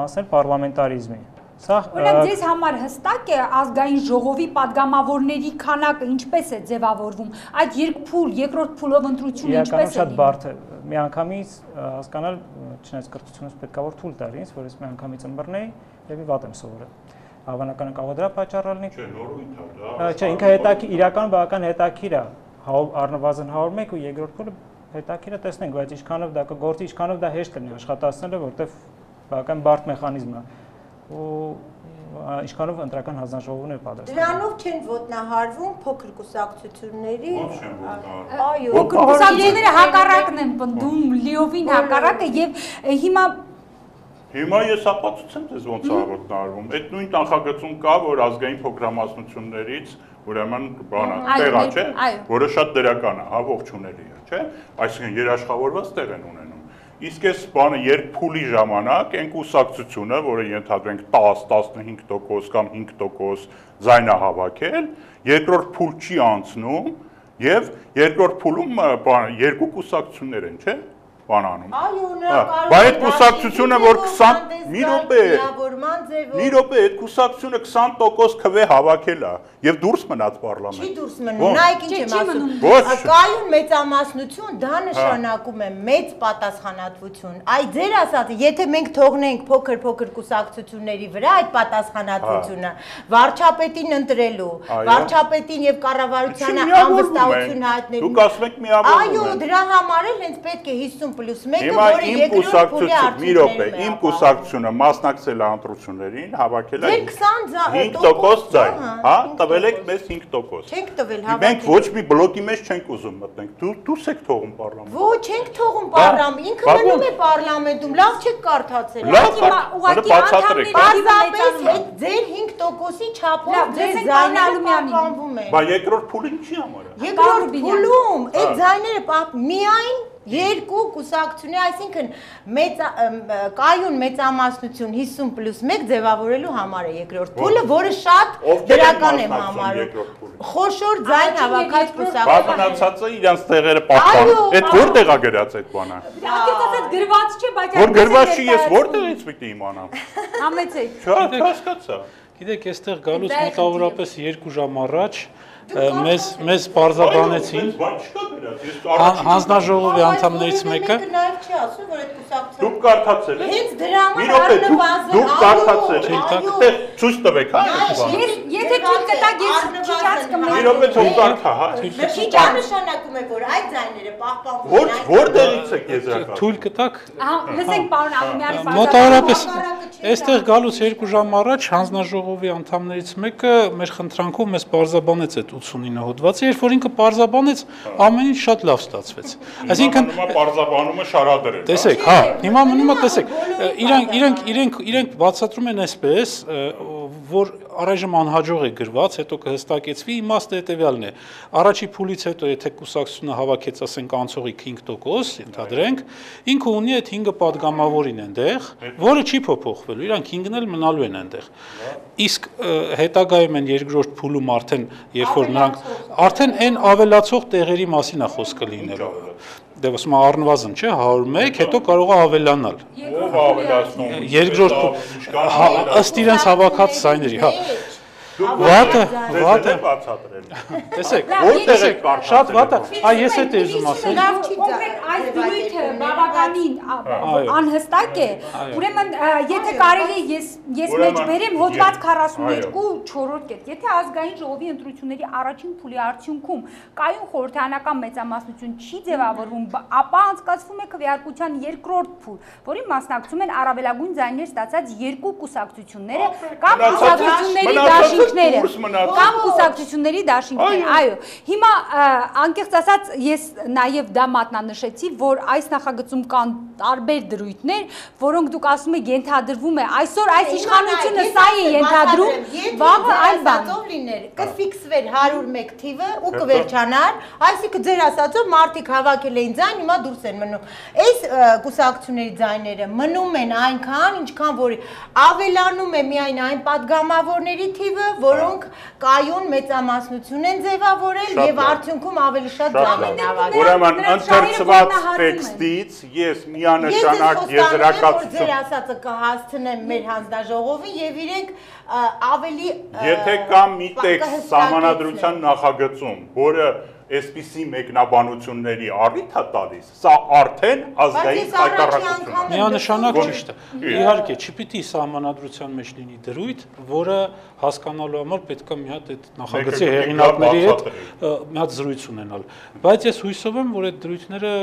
անցնել պարլամենտարիզմի։ Օրինակ ձեզ համար հստակ է ազգային ժողովի падգամավորների քանակը ինչպես է ձևավորվում։ Այդ երկփուլ, երկրորդ փուլով ընտրությունը ինչպես է։ Շատ բարդ է։ Միանգամից հասկանալ, չնայած կրթությունից պետքա որ թույլ տար ինձ, որ ես միանգամից ըմբռնեի եւ վատ եմ սովորել։ Հավանական կարող է դրա պատճառը լինի։ Չէ, նորույթ է դա։ Չէ, ինքը հետաքրքիր, իրական բավական հետաքրքիր է։ Առնվազն հարյուր մեկ ու երկրորդ փուլը հետաքրքիր է տեսնենք, բայց ինչքանով դա կգործի, ինչքանով դա հեշտ լինի աշխատացնելը, որտեվ բավական բարդ մեխանիզմ է։ Ու ինչքանով ընտրական հանձնաժողովն է պատրաստ։ Դրանով չեն ոտնահարվում փոքր կուսակցությունների։ Ո՞նց չեն ոտնահարվում։ Այո, Փոքր կուսակցությունները հակառակն են պնդում, լիովին հակառակը եւ հիմա Հիմա ես ապացուցեմ ձեզ ոնց է ոտնահարվում։ Այդ նույն նախագծում կա, որ ազգային փոքրամասնություններից ուրեմն բանը տեղա չէ, որը շատ դրական է, հա, ողջունելի է, չէ՞։ Այսինքն երաշխավորված տեղ են ունենում։ Իսկ այս բանը երկփուլի ժամանակ այն կուսակցությունը, որը ենթադրենք տաս, տասնհինգ տոկոս կամ հինգ տոկոս ձայն է հավաքել, երկրորդ փուլ չի անցնում եւ երկրորդ փուլում բանը երկու կուսակցություններ են, չէ՞։ Բանանում։ Այո, նա կարող է։ Բայց այդ կուսակցությունը, որ քսան մի րոպե, մի րոպե, այդ կուսակցությունը քսան տոկոս քվե հավաքել է եւ դուրս մնաց պարլամենտ։ Չի դուրս մնում, նայեք ինչ եմ ասում։ Կայուն մեծամասնություն, դա նշանակում է մեծ պատասխանատվություն։ Այ ձեր ասածը, եթե մենք թողնենք փոքր-փոքր կուսակցությունների վրա այդ պատասխանատվությունը, վարչապետին ընտրելու, վարչապետին եւ կառավարությանը անվստահություն հայտնելու։ Դուք ասում եք միավորվում են։ Այո, դրա համար էլ հենց պետք է հիսուն պլյուս մեկը, Հիմա որը իմ երկրորդ փուլի կուսակցությունը, մի րոպե, իմ կուսակցությունը մասնակցել է ընտրություններին, հավաքել է հինգ տոկոս ձայն, հա, տվել եք մեզ հինգ տոկոս։ Չենք տվել, Մենք ոչ մի բլոկի մեջ չենք ուզում մտնենք։ Դու դուրս եք թողում պարլամենտ։ Ոչ, չենք թողում պարլամենտ, ինքը մնում է պարլամենտում, լավ չեք կարդացել։ Ուղղակի անդամների Պարզապես այդ ձեր հինգ տոկոսի չափով ձեր ձայները պահպանվում են։ Բայց երկրորդ փուլին չի համար։ Երկրորդ փուլում այդ ձայները միայն երկու կուսակցություններ, այսինքն մեծ կայուն մեծամասնություն հիսուն պլյուս մեկ ձևավորելու համար է երկրորդ փուլը, որը շատ դրական է համարում։ Խոշոր ձայն հավաքած կուսակցություն։ Բազմացածը իրենց տեղերը պահպանում։ Այդ որտեղ է գրած այդ բանը։ Անկեղծ գրված չէ, բայց Որ գրված չի, ես որտեղից պիտի իմանամ։ Համեցեք։ Չհասկացա։ Գիտեք, այստեղ գալուց մոտավորապես երկու ժամ առաջ մեզ մեզ բարձաբանեցին հանձնաժողովի անդամներից մեկը Դուք կարդացել եք։ Հենց դրա համար դուք կարդացել եք։ Ցույց տվեք, հա։ Եթե ցույց տակ ես քիչ աց կմնամ։ Մի րոպե թող կարդա, հա։ Քիչ անշանակում է, որ այդ ձայները պահպանվում են։ Որտեղից եք եզրակացել։ Թույլ կտաք։ Ահա, լսենք պարոն Աղմյանի։ Մոտավորապես այստեղ գալուց երկու ժամ առաջ հանձնաժողովի անդամներից մեկը մեր խնդրանքով մեզ բարձաբանեց այդ ութսունինը հոդվածը, երբ որ ինքը բարձաբանեց, ամեն ինչ շատ լավ ստացվեց։ Այսինքն բարձաբանումը շարադրել։ Տեսեք, հա, հիմա մնում է, տեսեք, իրանք իրենք իրենք իրենք բացատրում են այսպես, որ առայժմ անհաջող է գրված, հետո կհստակեցվի, իմաստը հետևյալն է։ Առաջի փուլից հետո եթե կուսակցությունը հավաքեց, ասենք, անցողիկ հինգ տոկոս, ընդհանրենք, ինքը ունի այդ հինգը падգամավորին այնտեղ, որը չի փոփոխվելու, իրանք հինգն էլ մնալու են այնտեղ։ Իսկ հետագայում են երկրորդ փուլում արդեն, երբ որ նրանք արդեն այն ավելացող տեղերի մասին է խոսքը լինելու։ Դե ոսմա առնվազն չէ հարյուր մեկ, հետո կարող է ավելանալ։ Ով ավելացնում։ Երկրորդ ըստ իրենց հավաքած ձայների, հա։ Վատը, վատը բացատրել։ Տեսեք, որտեղ եք կարդացել։ Շատ վատը, այ ես էլ ուզում ասել։ Կոնկրետ այս դրույթը բավականին անհստակ է։ Ուրեմն եթե կարելի ես ես մեջ բերեմ հոդված քառասունյոթ չորրորդ կետ։ Եթե ազգային ժողովի ընտրությունների առաջին փուլի արդյունքում կայուն խորհրդարանական մեծամասնություն չի ձևավորվում, ապա անցկացվում է քվեարկության երկրորդ փուլ, որին մասնակցում են առավելագույն ձայներ ստացած երկու կուսակցությունները կամ կուսակցությունների դաշինքները կամ կուսակցությունների դաշինքները։ Այո, հիմա անկեղծ ասած ես նաև դա մատնանշեցի, որ այս նախագծում կան տարբեր դրույթներ, որոնք դուք ասում եք ենթադրվում է այսօր այս իշխանությունը սա է ենթադրում, վաղը այլ բան լիներ, կֆիքսվեր հարյուր մեկ թիվը ու կվերջանար, այսինքն ձեր ասածով մարդիկ հավաքել էին ձայն, հիմա դուրս են մնում։ Այս կուսակցությունների ձայները մնում են այնքան, ինչքան որ ավելանում է միայն այն падգամավորների թիվը, որոնք կայուն մեծամասնություն են ձևավորել եւ արդյունքում ավելի շատ ձայն են հավաքել։ Ուրեմն ընթերցված տեքստից ես միանշանակ եզրակացություն ձեր ասածը կհասցնեմ մեր հանձնաժողովին եւ իրենք ավելի Եթե կա մի տեքստ սահմանադրության նախագծում, որը այսպիսի մեկնաբանությունների առիթ է տալիս, սա արդեն ազգային հայտարարություն է։ Միանշանակ ճիշտ է։ Իհարկե, չպիտի սահմանադրության մեջ լինի դրույթ, որը հասկանալու համար պետք է մի հատ այդ նախագծի հեղինակների հետ մի հատ զրույց ունենալ։ Բայց ես հույսով եմ, որ այդ դրույթները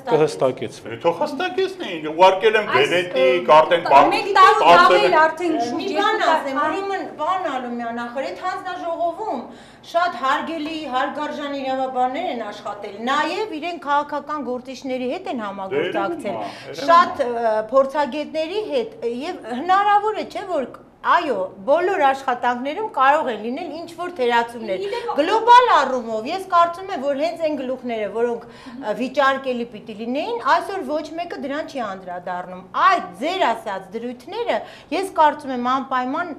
կհստակեցվեն։ Թող հստակեցնեին, ուղարկել են Վենետիկ, արդեն մեկ տարում ավել արդեն շուրջ մի բան ասեմ, ուրեմն բան Ալումյան ախր այդ հանձնաժողովում շատ հարգելի, հարգարժան իրավաբաններ են աշխատել, նաև իրեն քաղաքական գործիչների հետ են համագործակցել, շատ փորձագետների հետ եւ հնարավոր է, չէ՞ որ այո, բոլոր աշխատանքներում կարող են լինել ինչ-որ թերացումներ։ Գլոբալ առումով ես կարծում եմ, որ հենց այն գլուխները, որոնք վիճարկելի պիտի լինեին, այսօր ոչ մեկը դրան չի անդրադառնում։ Այդ ձեր ասած դրույթները ես կարծում եմ անպայման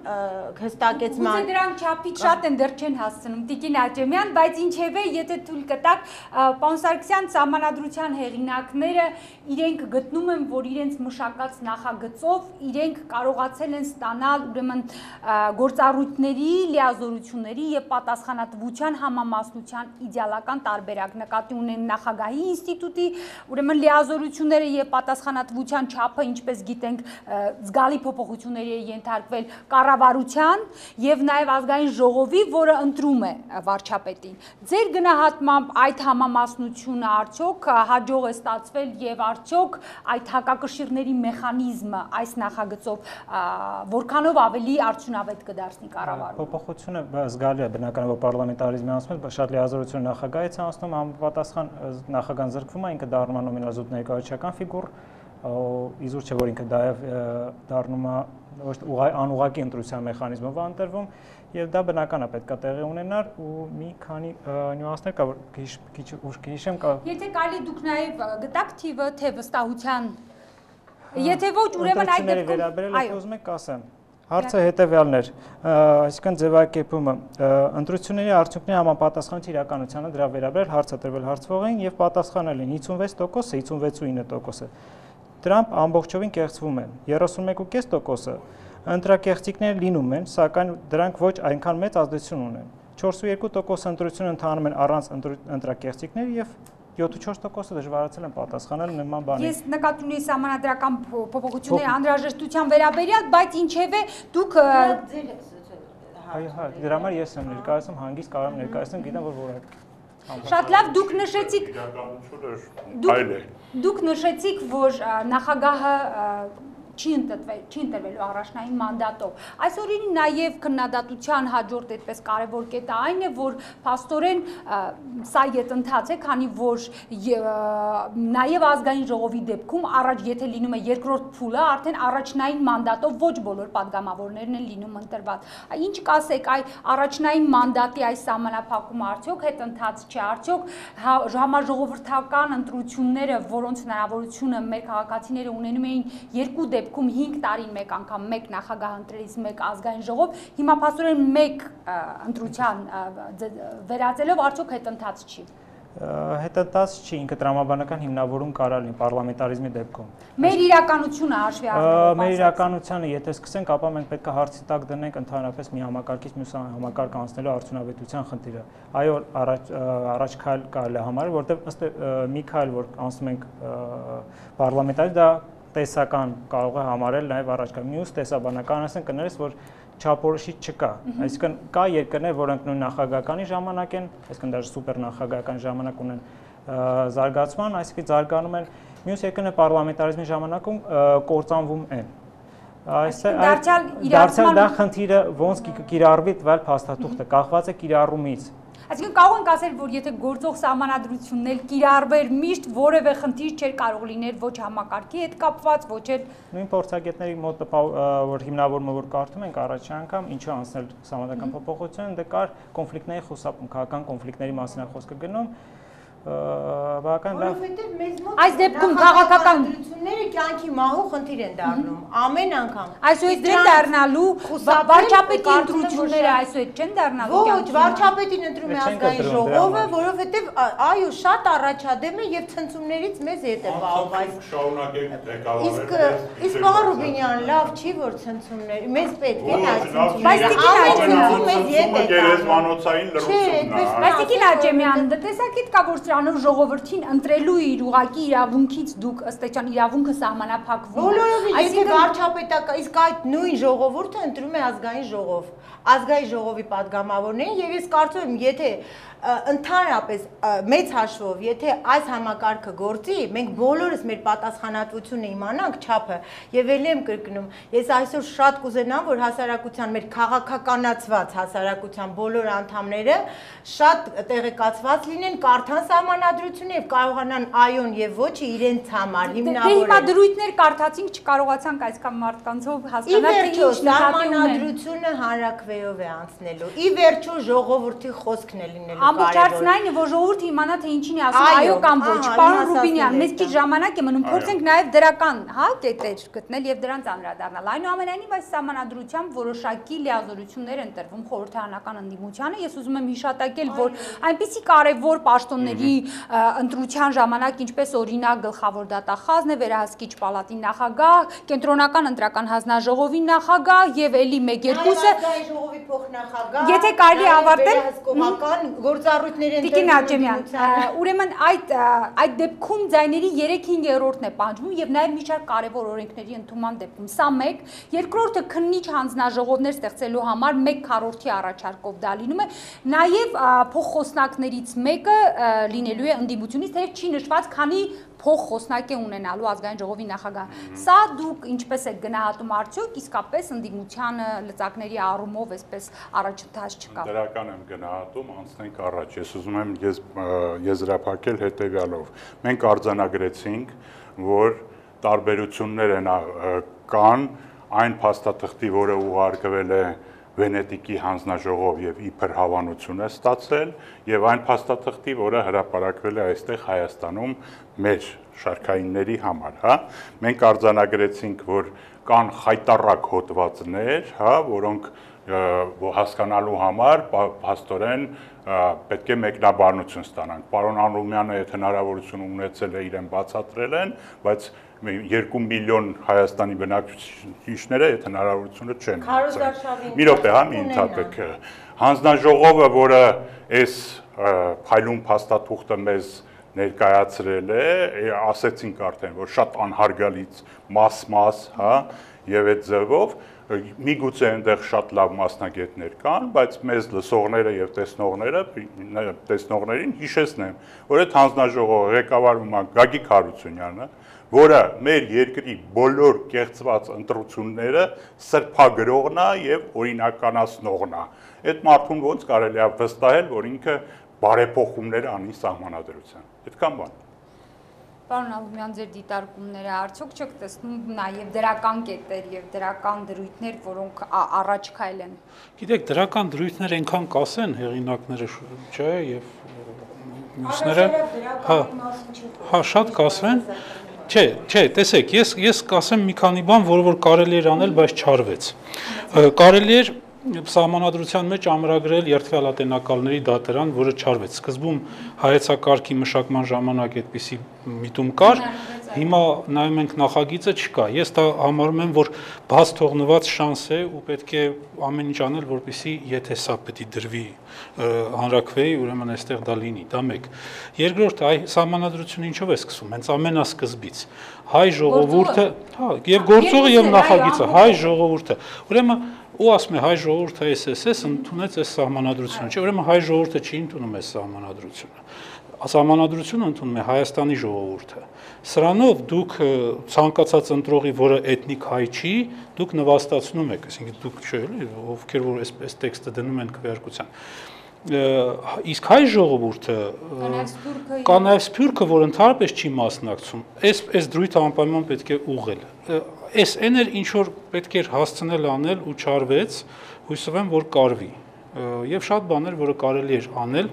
հստակեցման։ Գուցե դրանք չափից շատ են դեռ չեն հասցնում Տիկին Աճեմյան, բայց ինչևէ, եթե թույլ կտաք, պարոն Սարգսյան, սահմանադրության հեղինակները իրենք գտնում են, որ իրենց մշակած նախագծով իրենք կարողացել են ստանալ ուրեմն գործառույթների, լիազորությունների եւ պատասխանատվության համամասնության իդեալական տարբերակ նկատի ունեն նախագահի ինստիտուտի, ուրեմն լիազորությունները եւ պատասխանատվության չափը, ինչպես գիտենք, զգալի փոփոխությունների է ենթարկվել կառավարության եւ նաեւ ազգային ժողովի, որը ընտրում է վարչապետին։ Ձեր գնահատմամբ այդ համամասնությունը արդյոք հաջող է ստացվել եւ արդյոք այդ հակակշիռների մեխանիզմը այս նախագծով որքանով ավելի արդյունավետ կդարձնի կառավարումը։ Փոփոխությունը զգալի է, բնական է, որ պարլամենտարիզմի անցումից շատ լիազորություն նախագահից անցնում, համապատասխան նախագահան զրկվում է, ինքը դառնում է նոմինալ ներկայացական ֆիգուր, իզուր չէ, որ ինքը դայև դառնում է ոչ անուղղակի ընտրության մեխանիզմով ընտրվում, եւ դա բնական է, պետք է տեղի ունենար ու մի քանի նյուանսներ կա, որ քիչ ուշ կհիշեմ կա։ Եթե կարելի դուք նաեւ գտաք թիվը, թե վստահության, եթե ոչ, ուրեմն այդ դեպքում, այո, ուզում եք ասեմ։ Հարցը հետևյալն էր, այսինքն ձևակերպումը, ընտրությունների արդյունքների համապատասխանության իրականությանը դրա վերաբերյալ հարց է տրվել հարցվողին եւ պատասխանել են հինգսունվեց տոկոսը, հինգսունվեց ու ինը տոկոսը։ Դրանք ամբողջովին կեղծվում են, երեսունմեկ ու կես տոկոսը ընտրակեղծիքներ լինում են, սակայն դրանք ոչ այնքան մեծ ազդեցություն ունեն։ չորս ու երկու տոկոս ընտրությունը ընթանում են առանց ընտրակեղծիքների եւ յոթ ու չորս տոկոսը դժվարացել են պատասխանել նման բանի։ Ես նկատի ունեի սահմանադրական փոփոխությունների անհրաժեշտության վերաբերյալ, բայց ինչևէ դուք Այո, հա, դրա համար ես եմ ներկայացնում, հանգիստ կարող եմ ներկայացնել, գիտեմ որ որակ։ Շատ լավ, դուք նշեցիք Դուք նշեցիք, որ նախագահը չի ընտրվել, չի ընտրվելու առաջնային մանդատով։ Այսօրին նաև քննադատության հաջորդ այդպես կարևոր կետը այն է, որ փաստորեն սա յետընթաց է, քանի որ նաև ազգային ժողովի դեպքում առաջ եթե լինում է երկրորդ փուլը, արդեն առաջնային մանդատով ոչ բոլոր падգամավորներն են լինում ընտրված։ Ինչ կասեք, այ առաջնային մանդատի այս սահմանափակումը արդյոք հետընթաց չէ, արդյոք համաժողովրդական ընտրությունները, որոնց հնարավորությունը մեր քաղաքացիները ունենում էին երկու դեպքում Քում հինգ տարին մեկ անգամ մեկ նախագահ ընտրելիս մեկ ազգային ժողով, հիմա փաստորեն մեկ ընտրության վերածելով արդյոք հետընթաց չի։ Հետընթաց չի, ինքը տրամաբանական հիմնավորում կարա լինի պարլամենտարիզմի դեպքում։ Մեր իրականությունը հաշվի առնելով։ Մեր իրականությունը, եթե սկսենք, ապա մենք պետք է հարցի տակ դնենք ընդհանրապես մի համակարգից մյուս համակարգ անցնելու արդյունավետության խնդիրը։ Այո, առաջ առաջ քայլ կարելի է համարել, որտեղ ըստ մի քայլ, որ անցնում ենք պարլամենտարիզմ, դա տեսական կարող է համարել նաև առաջկա մյուս տեսաբանական ասեն կներես, որ չափորոշիչ չկա, այսինքն կա երկրներ, որոնք նույն նախագահականի ժամանակ են, այսինքն даже սուպեր նախագահական ժամանակ ունեն զարգացման, այսինքն զարգանում են, մյուս երկրները պարլամենտարիզմի ժամանակում կործանվում են։ Դարձյալ դա խնդիրը ոնց կիրառվի տվյալ փաստաթուղթը, կախված է կիրառումից։ Այսինքն կարող ենք ասել, որ եթե գործող սահմանադրությունն էլ կիրառվեր միշտ որևէ խնդիր չէր կարող լինել ոչ համակարգի հետ կապված, ոչ էլ նույն փորձագետների մոտ որ հիմնավորումը որ կարդում ենք առաջի անգամ ինչու անցնել սահմանադրական փոփոխություն, դե կար կոնֆլիկտների խուսափում, քաղաքական կոնֆլիկտների մասին է խոսքը գնում, բավական լավ։ Այս դեպքում քաղաքական ընտրությունները իրեն կյանքի մահու խնդիր են դառնում ամեն անգամ։ Այսօր չեն դառնալու վարչապետի ընտրությունները այսօր չեն դառնալու կյանքի։ Ոչ, վարչապետին ընտրում է ազգային ժողովը, որովհետև այո, շատ առաջադեմ է եւ ցնցումներից մեզ հետ է բաղված։ Շարունակենք ղեկավարել։ Իսկ իսկ պարոն Ռուբինյան, լավ չի որ ցնցումներ, մեզ պետք է նա ցնցումները։ Բայց Տիկին Աջեմյան, տեսակիտ կա որ սրանով ժողովրդին ընտրելու իր ուղակի իրավունքից դուք ըստ էության իրավունքը սահմանափակվում է։ Բոլորովին, եթե վարչապետական, իսկ այդ նույն ժողովուրդը ընտրում է ազգային ժողով, ազգային ժողովի падգամավորներին եւ ես կարծում եմ, եթե ընդհանրապես մեծ հաշվով, եթե այս համակարգը գործի, մենք բոլորս մեր պատասխանատվությունը իմանանք չափը եւ ելի եմ կրկնում, ես այսօր շատ կուզենամ, որ հասարակության մեր քաղաքականացված հասարակության բոլոր անդամները շատ տեղեկացված լինեն, կարդան սահմանադրությունը եւ կարողանան այոն եւ ոչը իրենց համար հիմնավորել։ Հիմա դրույթներ կարդացինք, չկարողացանք այսքան մարդկանցով հասկանալ թե ինչ սահմանադրությունը հանրաքվեով է անցնելու։ Ի վերջո ժողովրդի խոսքն է լինելու։ Ամբողջացն այն է, որ ժողովուրդը իմանա թե ինչին է ասում, այո կամ ոչ։ Պարոն Ռուբինյան, մեզ քիչ ժամանակ է մնում, փորձենք նաև դրական, հա, կետեր գտնել եւ դրանց անդրադառնալ։ Այնուամենայնիվ այս սահմանադրությամբ որոշակի լիազորություններ են տրվում խորհրդարանական ընդդիմությանը։ Ես ուզում եմ հիշատակել, որ այնպիսի կարևոր պաշտոնների ընտրության ժամանակ, ինչպես օրինակ գլխավոր դատախազն է, վերահսկիչ պալատի նախագահ, կենտրոնական ընտրական հանձնաժողովի նախագահ եւ էլի մեկ-երկուսը ժողովի փոխնախագահ, եթե կարելի ավարտել գործառույթներ են Տիկին Աջեմյան, ուրեմն այդ այդ դեպքում ձայների երեք-հինգերորդն է պահանջվում եւ նաեւ մի շարք կարեւոր օրենքների ընդունման դեպքում։ Սա մեկ, երկրորդը քննիչ հանձնաժողովներ ստեղծելու համար մեկ քառորդի առաջարկով դա լինում է, նաեւ փոխխոսնակներից մեկը լինելու է ընդդիմությունից, թեև չի նշված, քանի փոխխոսնակ է ունենալու ազգային ժողովի նախագահ։ Սա դուք ինչպես եք գնահատում արդյոք իսկապես ընդդիմությանը լծակների առումով այսպես առաջընթաց չկա։ Դրական եմ գնահատում, անցնենք առաջ։ Ես ուզում եմ ես եզրափակել հետեւյալով։ Մենք արձանագրեցինք, որ տարբերություններ են կան այն փաստաթղթի, որը ուղարկվել է Վենետիկի հանձնաժողով եւ իբր հավանություն է ստացել եւ այն փաստաթղթի, որը հրապարակվել է այստեղ Հայաստանում մեր շարքայինների համար, հա։ Մենք արձանագրեցինք, որ կան խայտառակ հոդվածներ, հա, որոնք հասկանալու համար փաստորեն պետք է մեկնաբանություն ստանանք։ Պարոն Անրումյանը այդ հնարավորությունը ունեցել է, իրեն բացատրել են, բայց երկու միլիոն Հայաստանի բնակիչները այդ հնարավորությունը չեն ունեցել։ Մի րոպե, հա, մի ընդհատեք։ Հանձնաժողովը, որը այս փայլուն փաստաթուղթը մեզ ներկայացրել է, ասեցինք արդեն, որ շատ անհարգալից մաս-մաս, հա, եւ այդ ձևով միգուցե այնտեղ շատ լավ մասնագետներ կան, բայց մեզ լսողները եւ տեսնողները, տեսնողներին հիշեցնեմ, որ այդ հանձնաժողովը ղեկավարում է Գագիկ Հարությունյանը, որը մեր երկրի բոլոր կեղծված ընտրությունները սրբագրողն է եւ օրինականացնողն է։ Այդ մարդուն ոնց կարելի է վստահել, որ ինքը բարեփոխումներ անի սահմանադրության։ Այդքան բան։ Պարոն Ալումյան, ձեր դիտարկումները արդյոք չեք տեսնում նաև դրական կետեր եւ դրական դրույթներ, որոնք առաջ քայլ են։ Գիտեք, դրական դրույթներ այնքան կասեն հեղինակները, չէ, եւ մյուսները, հա, հա, շատ կասեն։ Չէ, չէ, տեսեք, ես ես կասեմ մի քանի բան, որը որ կարելի էր անել, բայց չարվեց։ Կարելի էր սահմանադրության մեջ ամրագրել երթվյալատենակալների դատարան, որը չարվեց։ Սկզբում հայեցակարգի մշակման ժամանակ այդպիսի միտում կար, հիմա նայում ենք նախագիծը չկա։ Ես դա համարում եմ, որ բաց թողնված շանս է ու պետք է ամեն ինչ անել, որպեսզի եթե սա պետք է դրվի հանրաքվեի, ուրեմն այստեղ դա լինի, դա մեկ։ Երկրորդ, այ սահմանադրությունը ինչով է սկսվում, հենց ամենասկզբից։ Հայ ժողովուրդը, հա, եւ գործողը եւ նախագիծը, հայ ժողովուրդը։ Ուրեմն ու ասում է հայ ժողովուրդը էս էս էս ընդունեց այս սահմանադրությունը, չէ, ուրեմն հայ ժողովուրդը չի ընդունում այս սահմանադրությունը։ Սահմանադրությունը ընդունում է Հայաստանի ժողովուրդը։ Սրանով դուք ցանկացած ընտրողի, որը էթնիկ հայ չի, դուք նվաստացնում եք, այսինքն դուք չէ, էլի, ովքեր որ այս տեքստը դնում են քվեարկության։ Իսկ հայ ժողովուրդը կանայվ սփյուռքը, որ ընդհանրապես չի մասնակցում, այս այս դրույթը անպայման պետք է ուղղել։ Այս այն էր ինչ որ պետք էր հասցնել անել ու չարվեց, հույսով եմ որ կարվի։ եւ շատ բաներ, որը կարելի էր անել,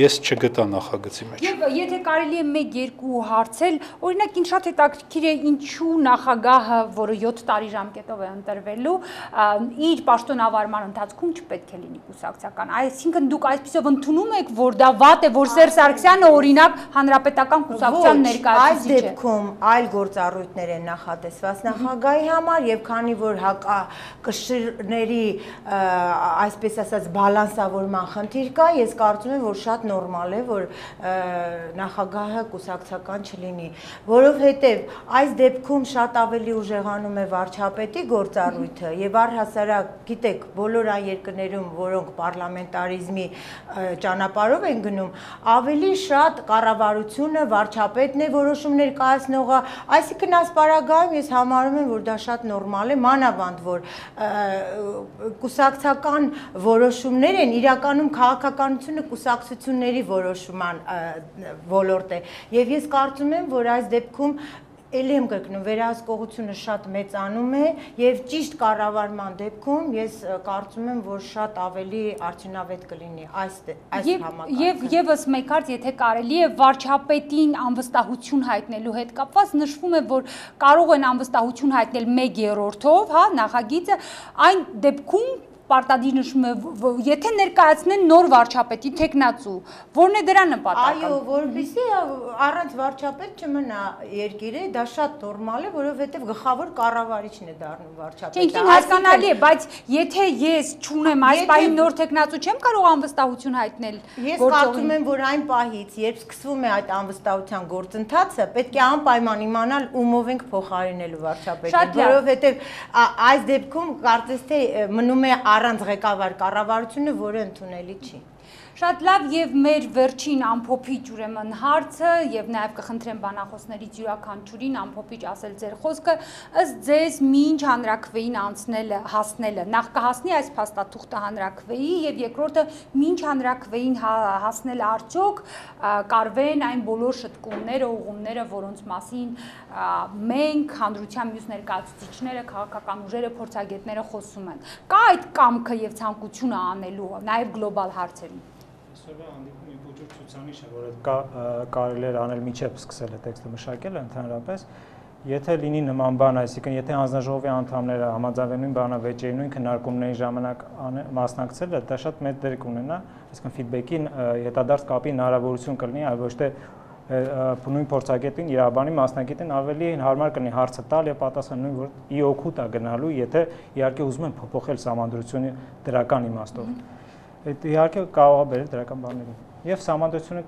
ես չգտա նախագծի մեջ։ Եվ եթե կարելի է մեկ-երկու հարցել, օրինակ ինձ շատ հետաքրքիր է ինչու նախագահը, որը յոթ տարի ժամկետով է ընտրվելու, իր պաշտոնավարման ընթացքում չպետք է լինի կուսակցական։ Այսինքն դուք այսպեսով ընդունում եք, որ դա վատ է, որ Սերժ Սարգսյանը օրինակ հանրապետական կուսակցության ներկայացուցիչ է։ Այս դեպքում այլ գործառույթներ են նախատեսված նախագահի համար եւ քանի որ կշիռների այսպես ասած բալանսավորման խնդիր կա, ես կարծում եմ, որ շատ նորմալ է, որ նախագահը կուսակցական չլինի, որովհետև այս դեպքում շատ ավելի ուժեղանում է վարչապետի գործառույթը եւ առհասարակ, գիտեք, բոլոր այն երկրներում, որոնք պարլամենտարիզմի ճանապարհով են գնում, ավելի շատ կառավարությունը, վարչապետն է որոշումներ կայացնողը, այսինքն այս պարագայում ես համարում եմ, որ դա շատ նորմալ է, մանավանդ որ կուսակցական որոշումներ են, իրականում քաղաքականությունը կուսակցությունների որոշման ոլորտ է եւ ես կարծում եմ, որ այս դեպքում Էլի եմ կրկնում, վերահսկողությունը շատ մեծանում է եւ ճիշտ կառավարման դեպքում ես կարծում եմ, որ շատ ավելի արդյունավետ կլինի այս այս համակարգը։ Եվ եւս մեկ հարց, եթե կարելի է վարչապետին անվստահություն հայտնելու հետ կապված, նշվում է, որ կարող են անվստահություն հայտնել մեկ երրորդով, հա, նախագիծը, այն դեպքում պարտադիր նշում է, եթե ներկայացնեն նոր վարչապետի տեխնացու, որն է դրա նպատակը։ Այո, որովհետեւ առանց վարչապետ չմնա երկիրը, դա շատ նորմալ է, որովհետեւ գլխավոր կառավարիչն է դառնում վարչապետը։ Ինքնին հասկանալի է, բայց եթե ես չունեմ այս պահին նոր տեխնացու, չեմ կարող անվստահություն հայտնել։ Ես կարծում եմ, որ այն պահից, երբ սկսվում է այդ անվստահության գործընթացը, պետք է անպայման իմանալ ումով ենք փոխարինելու վարչապետին, որովհետեւ այս դեպքում կարծես թե մնում է առանց ղեկավար կառավարությունը, որը ընդունելի չի։ Շատ լավ եւ մեր վերջին ամփոփիչ ուրեմն հարցը եւ նաեւ կխնդրեմ բանախոսներից յուրաքանչյուրին ամփոփիչ ասել ձեր խոսքը, ըստ ձեզ մինչ հանրաքվեին անցնելը, հասնելը, նախ կհասնի այս փաստաթուղթը հանրաքվեի եւ երկրորդը մինչ հանրաքվեին հասնել արդյոք կարվեն այն բոլոր շտկումները, ուղումները, որոնց մասին մենք հանրության մյուս ներկայացուցիչները, քաղաքական ուժերը, փորձագետները խոսում են։ Կա այդ կամքը եւ ցանկությունը անելու նաեւ գլոբալ հարցերում։ Այսօրվա հանդիպումի բուժուր ցուցանիշ է, որը կարելի էր անել միջև սկսել է տեքստը մշակելը ընդհանրապես, եթե լինի նման բան, այսինքն եթե հանձնաժողովի անդամները համաձայնվեն բանավեճերի նույն քննարկումների ժամանակ մասնակցելը, դա շատ մեծ դեր կունենա, այսինքն ֆիդբեքի հետադարձ կապի հնարավորություն կլինի, այլ ոչ թե նույն փորձագետին, իրավաբանի մասնագետին ավելի հարմար կլինի հարցը տալ եւ պատասխանել նույն որ ի օգուտ է գնալու, եթե իհարկե ուզում են փոփոխել սահմանադրությունը դրական իմաստով։ Այդ իհարկե կարող է բերել դրական բաներին։ Եվ սահմանադրությունը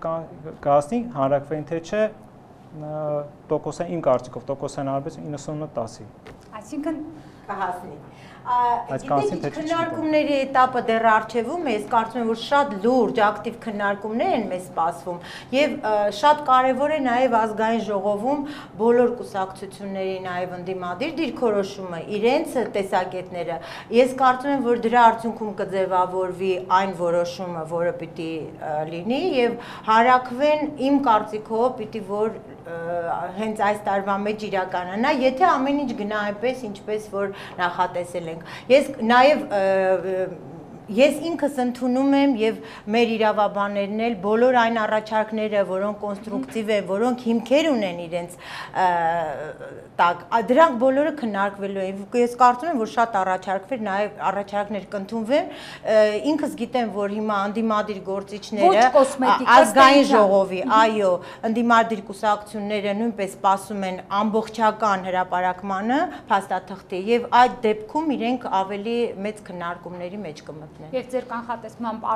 կհասնի հանրաքվեին թե չէ տոկոսային իմ կարծիքով տոկոսային արբեց իննսունինը տասի։ Այսինքն կհասնի։ Գիտեք, քննարկումների этаպը դեռ առջևում է, ես կարծում եմ, որ շատ լուրջ ակտիվ քննարկումներ են մեզ սպասվում եւ շատ կարեւոր է նաեւ ազգային ժողովում բոլոր կուսակցությունների նաեւ ընդդիմադիր դիրքորոշումը, իրենց տեսակետները։ Ես կարծում եմ, որ դրա արդյունքում կձևավորվի այն որոշումը, որը պիտի լինի եւ հարակվեն իմ կարծիքով պիտի որ հենց այս տարվա մեջ իրականանա, եթե ամեն ինչ գնա այնպես, ինչպես որ նախատեսել ենք։ Ես նաև Ես ինքս ընդունում եմ եւ մեր իրավաբաններն էլ բոլոր այն առաջարկները, որոնք կոնստրուկտիվ են, որոնք հիմքեր ունեն իրենց տակ, դրանք բոլորը քննարկվելու են։ Ես կարծում եմ, որ շատ առաջարկներ, նաեւ առաջարկներ կընդունվեն։ Ինքս գիտեմ, որ հիմա անդիմադիր գործիչները ազգային ժողովի, այո, անդիմադիր կուսակցությունները նույնպես սպասում են ամբողջական հրապարակմանը փաստաթղթի եւ այդ դեպքում իրենք ավելի մեծ քննարկումների մեջ կմտնեն։ Եվ ձեր կանխատեսմամբ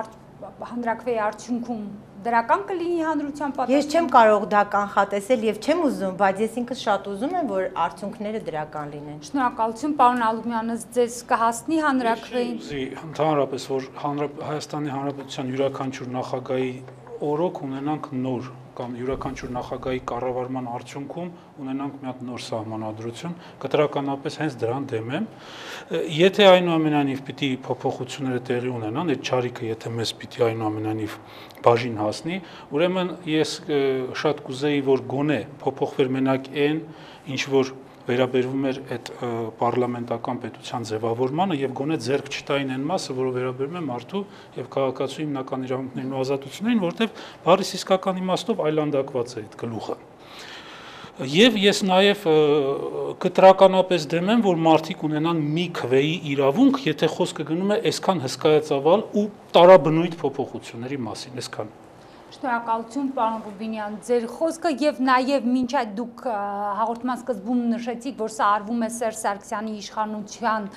հանրաքվեի արդյունքում դրական կլինի հանրության պատասխանը։ Ես չեմ կարող դա կանխատեսել եւ չեմ ուզում, բայց ես ինքս շատ ուզում եմ, որ արդյունքները դրական լինեն։ Շնորհակալություն, պարոն Ալումյան, ձեզ կհասնի հանրաքվեին։ Ընդհանրապես, որ Հայաստանի Հանրապետության յուրաքանչյուր նախագահի օրոք ունենանք նոր կամ յուրաքանչյուր նախագահի կառավարման արդյունքում ունենանք մի հատ նոր սահմանադրություն, կտրականապես հենց դրան դեմ եմ։ Եթե այնուամենայնիվ պիտի փոփոխությունները տեղի ունենան, այդ չարիքը եթե մեզ պիտի այնուամենայնիվ բաժին հասնի, ուրեմն ես շատ կուզեի, որ գոնե փոփոխվեր մենակ այն, ինչ որ վերաբերվում էր այդ պարլամենտական պետության ձևավորմանը եւ գոնե ձեռք չտային այն մասը, որը վերաբերում է մարդու եւ քաղաքացու հիմնական իրավունքներին ու ազատություններին, որտեղ բառի իսկական իմաստով այլանդակված է այդ գլուխը։ Եվ ես նաեւ կտրականապես դեմ եմ, որ մարդիկ ունենան մի քվեի իրավունք, եթե խոսքը գնում է այսքան հսկայածավալ ու տարաբնույթ փոփոխությունների մասին, այսքան։ Շնորհակալություն, պարոն Ռուբինյան, ձեր խոսքը եւ նաեւ մինչ այդ դուք հաղորդման սկզբում նշեցիք, որ սա արվում է Սերժ Սարգսյանի իշխանության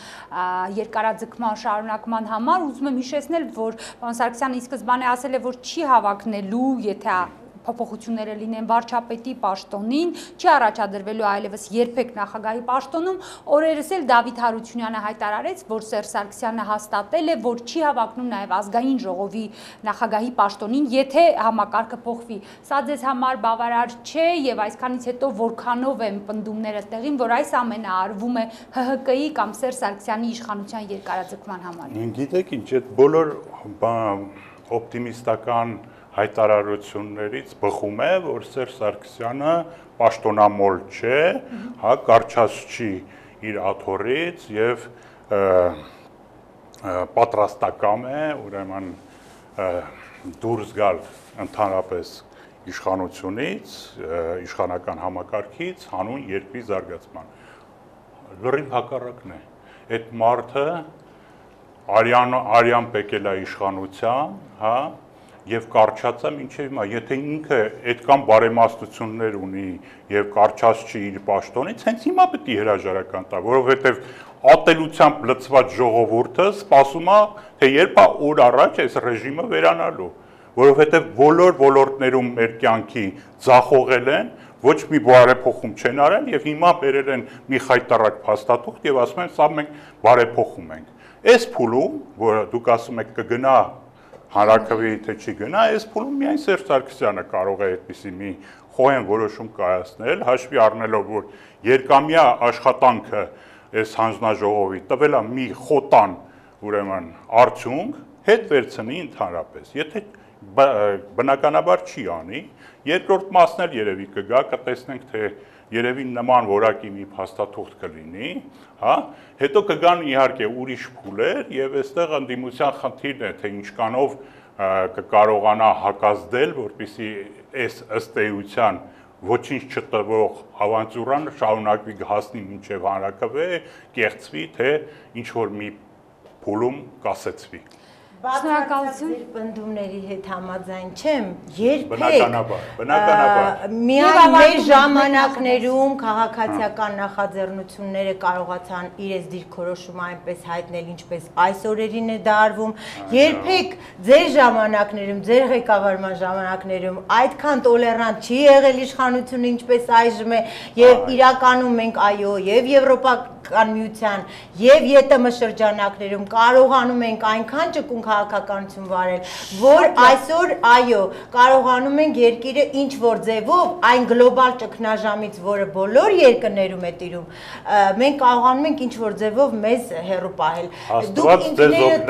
երկարաձգման շարունակման համար, ուզում եմ հիշեցնել, որ պարոն Սարգսյանը ի սկզբանե ասել է, որ չի հավակնելու, եթե փոփոխությունները լինեն վարչապետի պաշտոնին, չի առաջադրվելու այլևս երբեք նախագահի պաշտոնում, օրերս էլ Դավիթ Հարությունյանը հայտարարեց, որ Սերժ Սարգսյանը հաստատել է, որ չի հավակնում նաև ազգային ժողովի նախագահի պաշտոնին, եթե համակարգը փոխվի։ Սա ձեզ համար բավարար չէ եւ այսքանից հետո որքանով են պնդումները տեղին, որ այս ամենը արվում է Հ Հ Կ-ի կամ Սերժ Սարգսյանի իշխանության երկարաձգման համար։ Գիտեք ինչ, այդ բոլոր օպտիմիստական հայտարարություններից բխում է, որ Սերժ Սարգսյանը պաշտոնամոլ չէ, հա, կարճած չի իր աթոռից եւ պատրաստակամ է, ուրեմն դուրս գալ ընդհանրապես իշխանությունից, իշխանական համակարգից հանուն երկրի զարգացման։ Լրիվ հակառակն է։ Այդ մարդը արյան արյան պեկել է իշխանության, հա, եւ կարճած է մինչեւ հիմա, եթե ինքը այդքան բարեմաստություններ ունի եւ կարճած չի իր պաշտոնից, հենց հիմա պետք է հրաժարական տա, որովհետեւ ատելությամբ լցված ժողովուրդը սպասում է, թե երբ է օր առաջ այս ռեժիմը վերանալու, որովհետեւ բոլոր ոլորտներում մեր կյանքի ձախողել են, ոչ մի բարեփոխում չեն արել եւ հիմա բերել են մի խայտարակ փաստաթուղթ եւ ասում են, սա մենք բարեփոխում ենք։ Այս փուլում, որ դուք ասում եք կգնա հանրաքվեի թե չի գնա, այս փուլում միայն Սերժ Սարգսյանը կարող է այդպիսի մի խոհեն որոշում կայացնել, հաշվի առնելով, որ երկամյա աշխատանքը այս հանձնաժողովի տվել է մի խոտան, ուրեմն արդյունք, հետ վերցնի ընդհանրապես։ Եթե բնականաբար չի անի, երկրորդ մասն էլ երևի կգա, կտեսնենք, թե երևի նման որակի մի փաստաթուղթ կլինի, հա, հետո կգան իհարկե ուրիշ փուլեր եւ այստեղ ընդդիմության խնդիրն է, թե ինչքանով կկարողանա հակազդել, որպեսզի այս ըստ էության ոչինչ չտվող ավանտյուրան շարունակվի հասնի մինչև հանրաքվե, կեղծվի, թե ինչ որ մի փուլում կասեցվի։ Շնորհակալություն։ Ձեր պնդումների հետ համաձայն չեմ, երբեք Բնականաբար, բնականաբար։ Միայն մեր ժամանակներում քաղաքացիական նախաձեռնությունները կարողացան իրենց դիրքորոշումը այնպես հայտնել, ինչպես այս օրերին է դա արվում։ Երբեք ձեր ժամանակներում, ձեր ղեկավարման ժամանակներում այդքան տոլերանտ չի եղել իշխանությունը, ինչպես այժմ է, եւ իրականում մենք այո, եւ Եվրոպական միության, եւ Ե Տ Մ շրջանակներում կարողանում ենք այնքան ճկուն քաղաքականություն վարել, որ այսօր այո, կարողանում ենք երկիրը ինչ որ ձևով այն գլոբալ ճգնաժամից, որը բոլոր երկրներում է տիրում, մենք կարողանում ենք ինչ որ ձևով մեզ հեռու պահել։ Դուք ինքներդ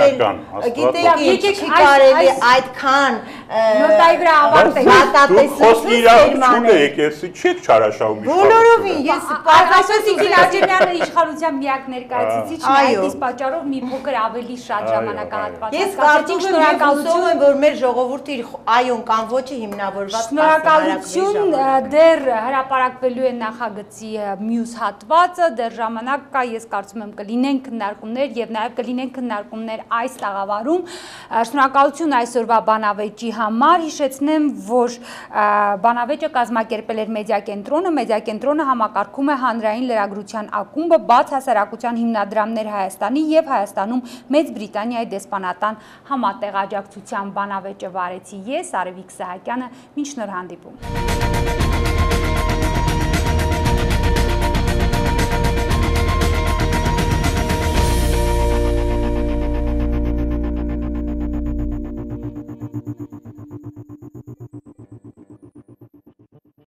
գիտեք, չի կարելի այդքան նոտայի վրա ավարտել։ Հատատեսություն եկեսի չեք չարաշահում իշխանությունը։ Բոլորովին ես Արտաշես Իգիլաջանյանը իշխանության միակ ներկայացուցիչն է, այդ իսկ պատճառով մի փոքր ավելի շատ ժամանակահատված։ Ես կարծում եմ, հուսով եմ, որ մեր ժողովուրդը իր այոն կամ ոչը հիմնավորված Շնորհակալություն, դեռ հրապարակվելու է նախագծի մյուս հատվածը, դեռ ժամանակ կա, ես կարծում եմ կլինեն քննարկումներ եւ նաեւ կլինեն քննարկումներ այս տաղավարում։ Շնորհակալություն այսօրվա բանավեճի համար, հիշեցնեմ, որ բանավեճը կազմակերպել էր Մեդիա կենտրոնը, Մեդիա կենտրոնը համակարգում է հանրային լրագրության ակումբը, բաց հասարակության հիմնադրամներ Հայաստանի եւ Հայաստանում Մեծ Բրիտանիայի դեսպանատան համատեղ աջակցության բանավեճը վարեցի ես, Արևիկ Սահակյանը, մինչ նոր հանդիպում։